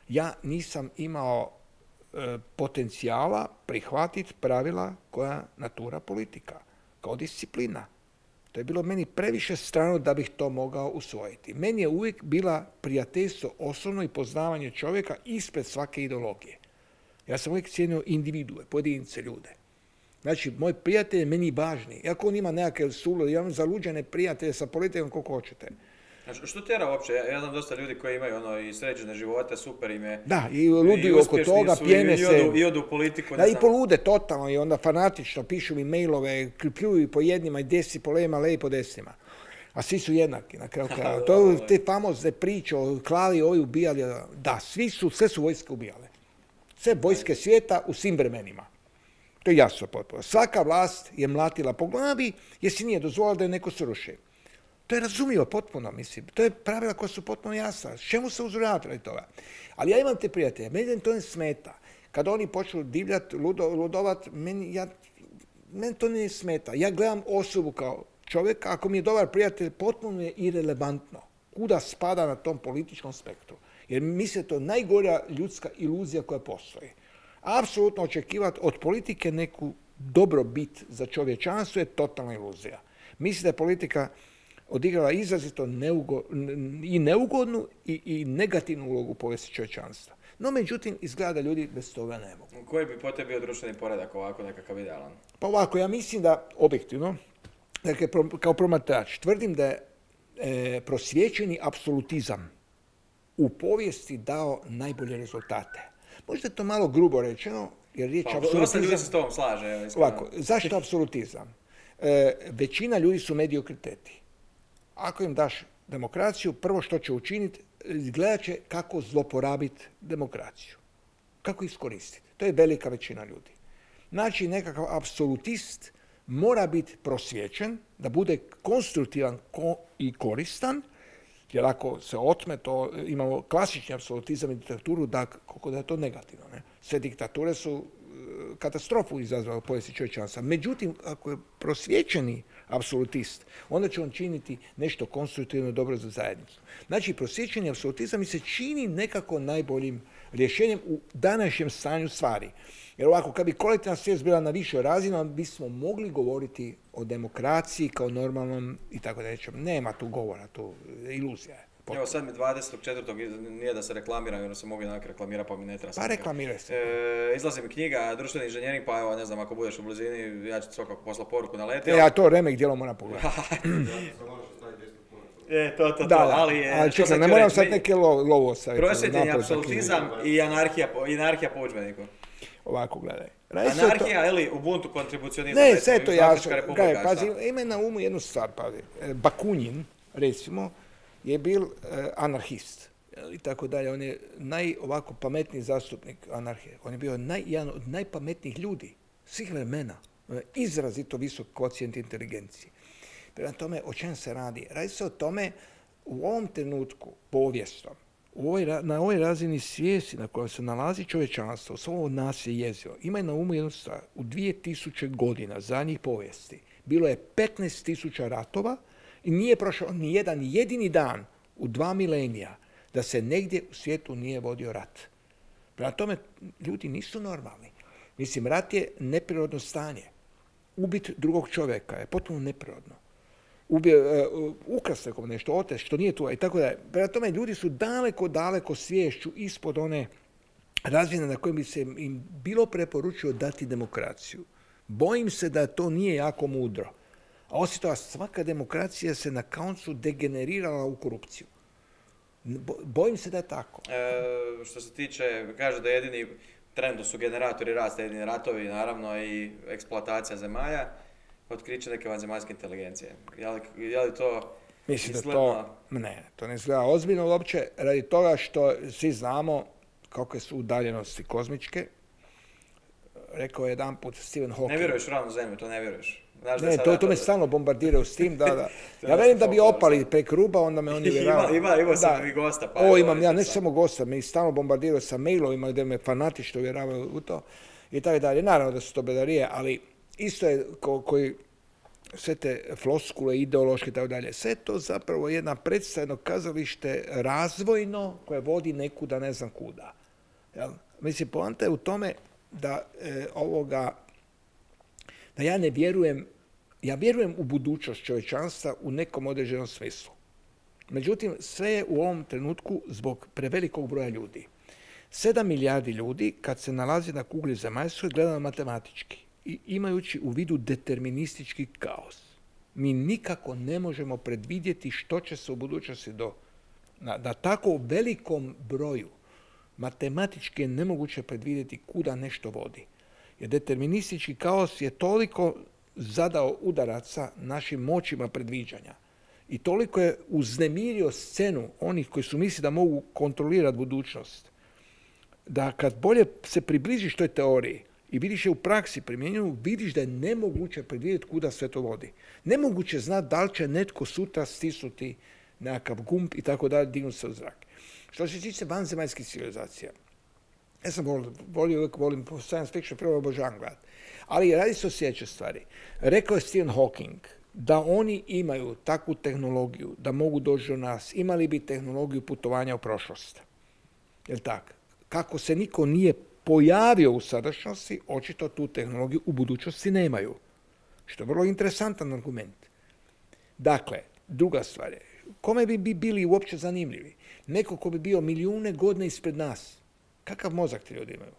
Ja nisam imao potencijala prihvatiti pravila koja natura politika, kao disciplina. To je bilo meni previše strano da bih to mogao usvojiti. Meni je uvijek bila prijateljstvo osobno i poznavanje čovjeka ispred svake ideologije. Ja sam uvijek cijenio individue, pojedince, ljude. Znači, moj prijatelj je meni važniji. Iako on ima nekakve sulude, ja imam zaluđene prijatelje sa politikom koliko hoćete. Znači, što tjera uopće? Ja znam dosta ljudi koji imaju i sređene živote, super im je. Da, i luduju oko toga, pjene se. I odu u politiku. Da, i polude totalno i onda fanatično pišu mi mailove, pljuju po jednima i desi po levima, levi po desnima. A svi su jednaki na kraju kraja. To te famozne priče o klali, ovi ubijali. Da, sve su vojske ubijale. Sve vojske svijeta u svim vremenima. To je jasno potpuno. Svaka vlast je mlatila po glavi jer si nije dozvolila da je neko sruši. To je razumljivo potpuno, mislim. To je pravila koja su potpuno jasna. Čemu se uzurati toga? Ali ja imam te prijatelje, meni to ne smeta. Kad oni počnu divljati, ludovat, meni to ne smeta. Ja gledam osobu kao čovjeka, ako mi je dobar prijatelj, potpuno je irelevantno kuda spada na tom političkom spektru. Jer mislim to je najgora ljudska iluzija koja postoji. Apsolutno očekivati od politike neku dobrobit za čovječanstvo je totalna iluzija. Mislim da je politika odigrala izrazito neugodnu i negativnu ulogu u povijesti čovječanstva. No, međutim, izgleda da ljudi bez toga ne mogu. Koji bi po tebi bio društveni poredak ovako nekakav idealan? Pa ovako, ja mislim da, objektivno, dakle, kao promatrač, tvrdim da je prosvjećeni apsolutizam u povijesti dao najbolje rezultate. Možda je to malo grubo rečeno, jer riječ apsolutizam... Dosta ljudi se s tobom slaže. Ovako, zašto apsolutizam? Većina ljudi su mediokriteti. Ako im daš demokraciju, prvo što će učiniti, gledat će kako zloporabiti demokraciju. Kako iskoristiti. To je velika većina ljudi. Znači, nekakav apsolutist mora biti prosvjećen, da bude konstruktivan i koristan Jer ako se otme, to imamo klasični apsolutizam i diktaturu, koliko da je to negativno. Ne? Sve diktature su katastrofu izazvale u povijesti čovječanstva. Međutim, ako je prosvjećeni apsolutist, onda će on činiti nešto konstruktivno dobro za zajednicu. Znači, prosvjećeni apsolutizam mi se čini nekako najboljim rješenjem u današnjem stanju stvari. Jer ovako, kad bi kolektivna svijest bila na višoj razini, onda bismo mogli govoriti o demokraciji kao normalnom i tako da rečem. Nema tu govora, tu iluzija je. Evo sad mi 24. nije da se reklamiram, jer se mogu jednak reklamirati, pa mi ne treba. Pa reklamiraj se. Izlazi mi knjiga, društveni inženjering, pa evo, ne znam, ako budeš u blizini, ja ću svakako poslati poruku na leti. Ja to remek djelo moram pogledati. To. Ali čekaj, ne moram sad neke lovo ostaviti. Prosvjetljenje, apsolutizam i anarhija po udžbeniku. Ovako, gledaj. Anarhija, ili Ubuntu kontribucionizam. Ne, sve to jasno. Pazi, ima na umu jednu stvar, pazi. Bakunin, recimo, je bil anarhist i tako dalje. On je ovako pametniji zastupnik anarhije. On je bio jedan od najpametnijih ljudi svih vremena. Izrazito visok kvocijent inteligencije. Prema tome, o čem se radi? Radi se o tome u ovom trenutku povijesnom, na ovoj razini svijesti na kojoj se nalazi čovječanstvo, svo ovo nasilje i jezivo, imaj na umu jednu stvar. U 2000 godina zadnjih povijesti bilo je 15.000 ratova i nije prošao ni jedan jedini dan u 2 milenija da se negdje u svijetu nije vodio rat. Prema tome, ljudi nisu normalni. Mislim, rat je neprirodno stanje. Ubiti drugog čovjeka je potpuno neprirodno. Ukrasti nekom nešto, oteti što nije tu i tako da. Prema tome, ljudi su daleko sviješću ispod one razine na kojoj bi se im bilo preporučio dati demokraciju. Bojim se da to nije jako mudro. A osim toga, svaka demokracija se na koncu degenerirala u korupciju. Bojim se da je tako. Što se tiče, kaže da jedini trendu su generatori rasta, jedini ratovi, naravno, i eksploatacija zemalja, otkriće neke vanzemaljske inteligencije. Je li to mislim izgledno? To ne izgleda ozbiljno uopće, radi toga što svi znamo kakve su udaljenosti kozmičke. Rekao je jedan put Stephen Hawking. Ne vjeruješ u ravnu zemlju, to ne vjeruješ. Ne, to me stalno bombardiraju s tim, da. Ja velim da bi opali prek ruba, onda me oni vjeravaju. Imao sam i gosta. Pa imam, ja ne samo gosta, me stalno bombardiraju sa mailovima gdje me fanatično vjeravaju u to i tako dalje. Naravno da su to bedarije, ali isto je koji sve te floskule, ideološke i tako dalje. Sve to zapravo jedna predstavljeno kazalište razvojno koje vodi nekuda, ne znam kuda. Jel? Mislim, poanta je u tome da da ja ne vjerujem, ja vjerujem u budućnost čovječanstva u nekom određenom smislu. Međutim, sve je u ovom trenutku zbog prevelikog broja ljudi. 7 milijardi ljudi, kad se nalazi na kugli zemaljskoj, gledano matematički i imajući u vidu deterministički kaos. Mi nikako ne možemo predvidjeti što će se u budućnosti na tako velikom broju. Matematički je nemoguće predvidjeti kuda nešto vodi. Jer deterministički kaos je toliko zadao udaraca našim moćima predviđanja i toliko je uznemirio scenu onih koji su mislili da mogu kontrolirati budućnost, da kad bolje se približiš toj teoriji i vidiš je u praksi primjenjuju, vidiš da je nemoguće predvidjeti kuda sve to vodi. Nemoguće znati da li će netko sutra stisnuti nekakav gumb i tako dalje, dignuti se u zrak. Što se tiče vanzemaljskih civilizacija, ja sam uvijek volim po science fiction, prvo obožavam gledati. Ali radi se o sljedećoj stvari. Rekao je Stephen Hawking da oni imaju takvu tehnologiju da mogu doći do nas, imali bi tehnologiju putovanja u prošlost. Jel' tako? Kako se niko nije pojavio u sadašnjosti, očito tu tehnologiju u budućnosti nemaju. Što je vrlo interesantan argument. Dakle, druga stvar je, kome bi bili uopće zanimljivi? Neko ko bi bio milijune godina ispred nas. Kakav mozak ti ljudi imaju?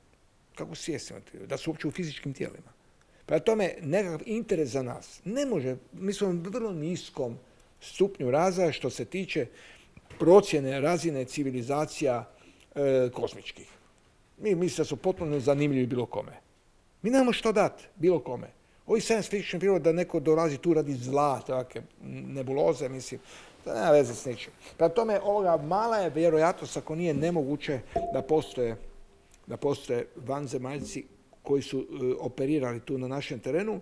Kako svijest imaju ti ljudi? Da su uopće u fizičkim tijelima. Prema tome, nekakav interes za nas ne može, mi smo u vrlo niskom stupnju razvoja što se tiče procjene razine civilizacija kozmičkih. Mi mislimo da su potpuno zanimljivi bilo kome. Mi nemamo što dati bilo kome. Ovi science fiction filmovi da neko dolazi tu radi zla, takve nebuloze, mislim, to nema veze s ničim. Prema tome, ovoga mala je vjerojatnost, ako nije nemoguće, da postoje vanzemaljci koji su operirali tu na našem terenu.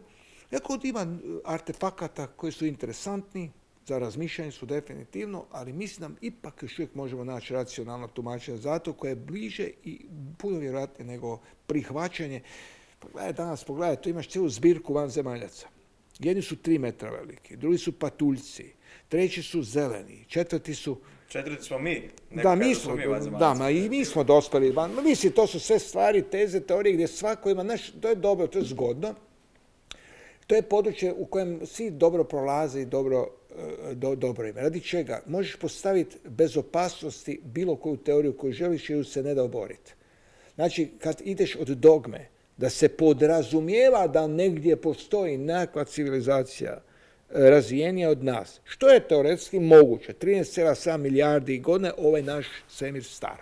Iako ima artefakata koji su interesantni, za razmišljanje su definitivno, ali mislim da ipak još uvijek možemo naći racionalno tumačenje zato koje je bliže i puno vjerojatnije nego prihvaćanje. Pogledaj, tu imaš cijelu zbirku vanzemaljaca. Jedni su 3 metra veliki, drugi su patuljci, treći su zeleni, četvrti smo mi. I mi smo dospeli. Mislim, to su sve stvari, teze, teorije gdje svako ima, to je dobro, to je zgodno. To je područje u kojem svi dobro prolaze i dobro ima. Radi čega? Možeš postaviti bez opasnosti bilo koju teoriju koju želiš i ju se ne da oboriti. Znači, kad ideš od dogme, da se podrazumijeva da negdje postoji nekakva civilizacija razvijenija od nas, što je teoretski moguće. 13,7 milijardi godine ovaj naš svemir star.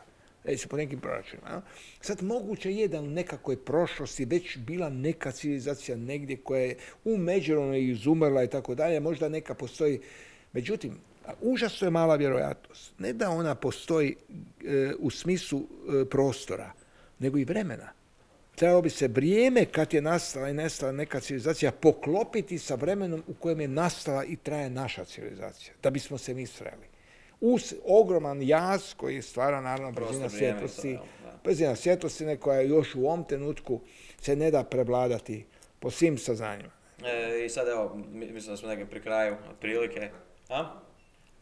Recimo po nekim proračunima. Sad moguće je da u nekakvoj prošlosti već bila neka civilizacija negdje koja je u međuvremenu izumrla i tako dalje, možda neka postoji. Međutim, užasno je mala vjerojatnost. Ne da ona postoji u smislu prostora, nego i vremena. Trebalo bi se vrijeme kad je nastala i nestala neka civilizacija poklopiti sa vremenom u kojem je nastala i traje naša civilizacija, da bismo se mi sreli. Uz ogroman jaz koji stvara naravno brzina svjetlosti koja još u ovom trenutku se ne da prevladati po svim saznanjima. I sad evo, mislim da smo negdje pri kraju otprilike.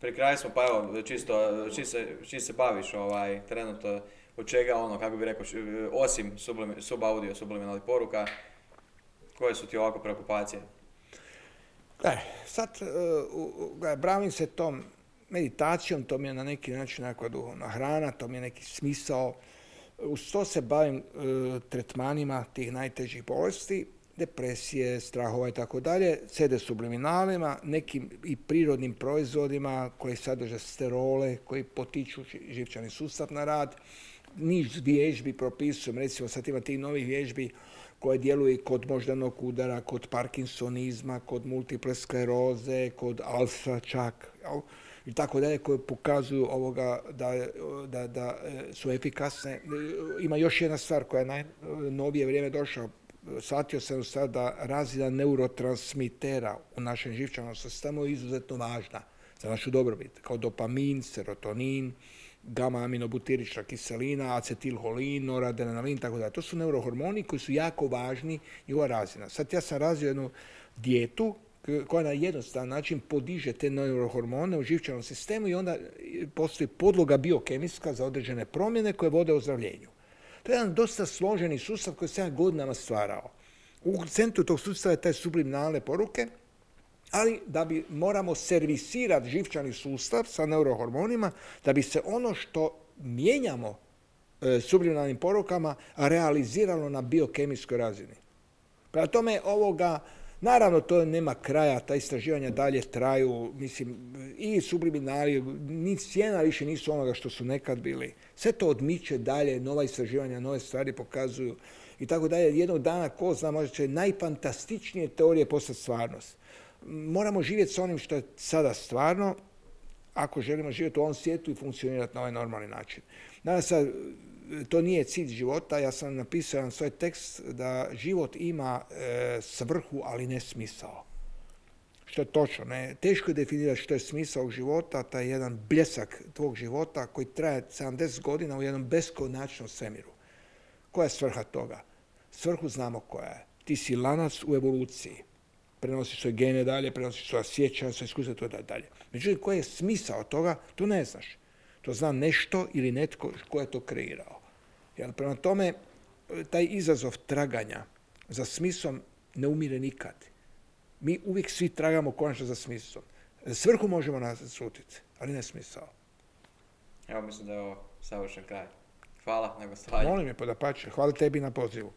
Pri kraju smo, pa evo, čisto se baviš trenutno od čega, kako bi rekao, osim subaudio, subliminalnih poruka, koje su ti ovako preokupacije? Sad bavim se tom meditacijom, to mi je na neki način nekakva duhovna hrana, to mi je neki smisao. Uz to se bavim tretmanima tih najtežih bolesti, depresije, strahova i tako dalje, CD subliminalima, nekim i prirodnim proizvodima koji sadrže sterole, koji potiču živčani sustav na rad. Niz vježbi propisujem, recimo sad ima tih novih vježbi koje djeluju kod moždanog udara, kod parkinsonizma, kod multiple skleroze, kod alfa čak, i tako dalje, koje pokazuju da su efikasne. Ima još jedna stvar koja je najnovije vrijeme došla. Shvatio sam sad da razina neurotransmitera u našem živčanom sistemu je izuzetno važna za našu dobrobit, kao dopamin, serotonin, gama-aminobutirična kiselina, acetilholin, noradrenalin, tako da. To su neurohormoni koji su jako važni, njihova razina. Sad ja sam razvio jednu dijetu koja na jednostavan način podiže te neurohormone u živčanom sistemu i onda postoji podloga biokemijska za određene promjene koje vode ozdravljenju. To je jedan dosta složeni sustav koji se ja godinama stvarao. U centru tog sustava je taj subliminalne poruke, ali da bi moramo servisirati živčani sustav sa neurohormonima, da bi se ono što mijenjamo subliminalnim porukama realiziralo na biokemijskoj razini. Prema tome naravno to nema kraja, ta istraživanja dalje traju, mislim, i subliminali, ni cijena više nisu onoga što su nekad bili. Sve to odmiče dalje, nova istraživanja, nove stvari pokazuju i tako dalje. Jednog dana, ko zna, možda će najfantastičnije teorije postati stvarnost. Moramo živjeti s onim što je sada stvarno, ako želimo živjeti u ovom svijetu i funkcionirati na ovaj normalni način. Danas to nije cilj života, ja sam napisao jedan svoj tekst da život ima svrhu, ali ne smisao. Što je točno, ne? Teško je definirati što je smisao života, taj jedan bljesak tvog života koji traje 70 godina u jednom beskonačnom svemiru. Koja je svrha toga? Svrhu znamo koja je. Ti si lanac u evoluciji. Prenosiš svoje gene dalje, prenosiš svoja sjećanja, svoje iskustva, to dalje. Međutim, koji je smisao toga, to ne znaš. To zna nešto ili netko ko je to kreirao. Jer prema tome, taj izazov traganja za smislom ne umire nikad. Mi uvijek svi tragamo konačno za smislom. Svrhu možemo naslutiti, ali ne smisao. Evo, mislim da je ovo savršen kraj. Hvala na gostovanju. Molim je, podapače. Hvala tebi na pozivu.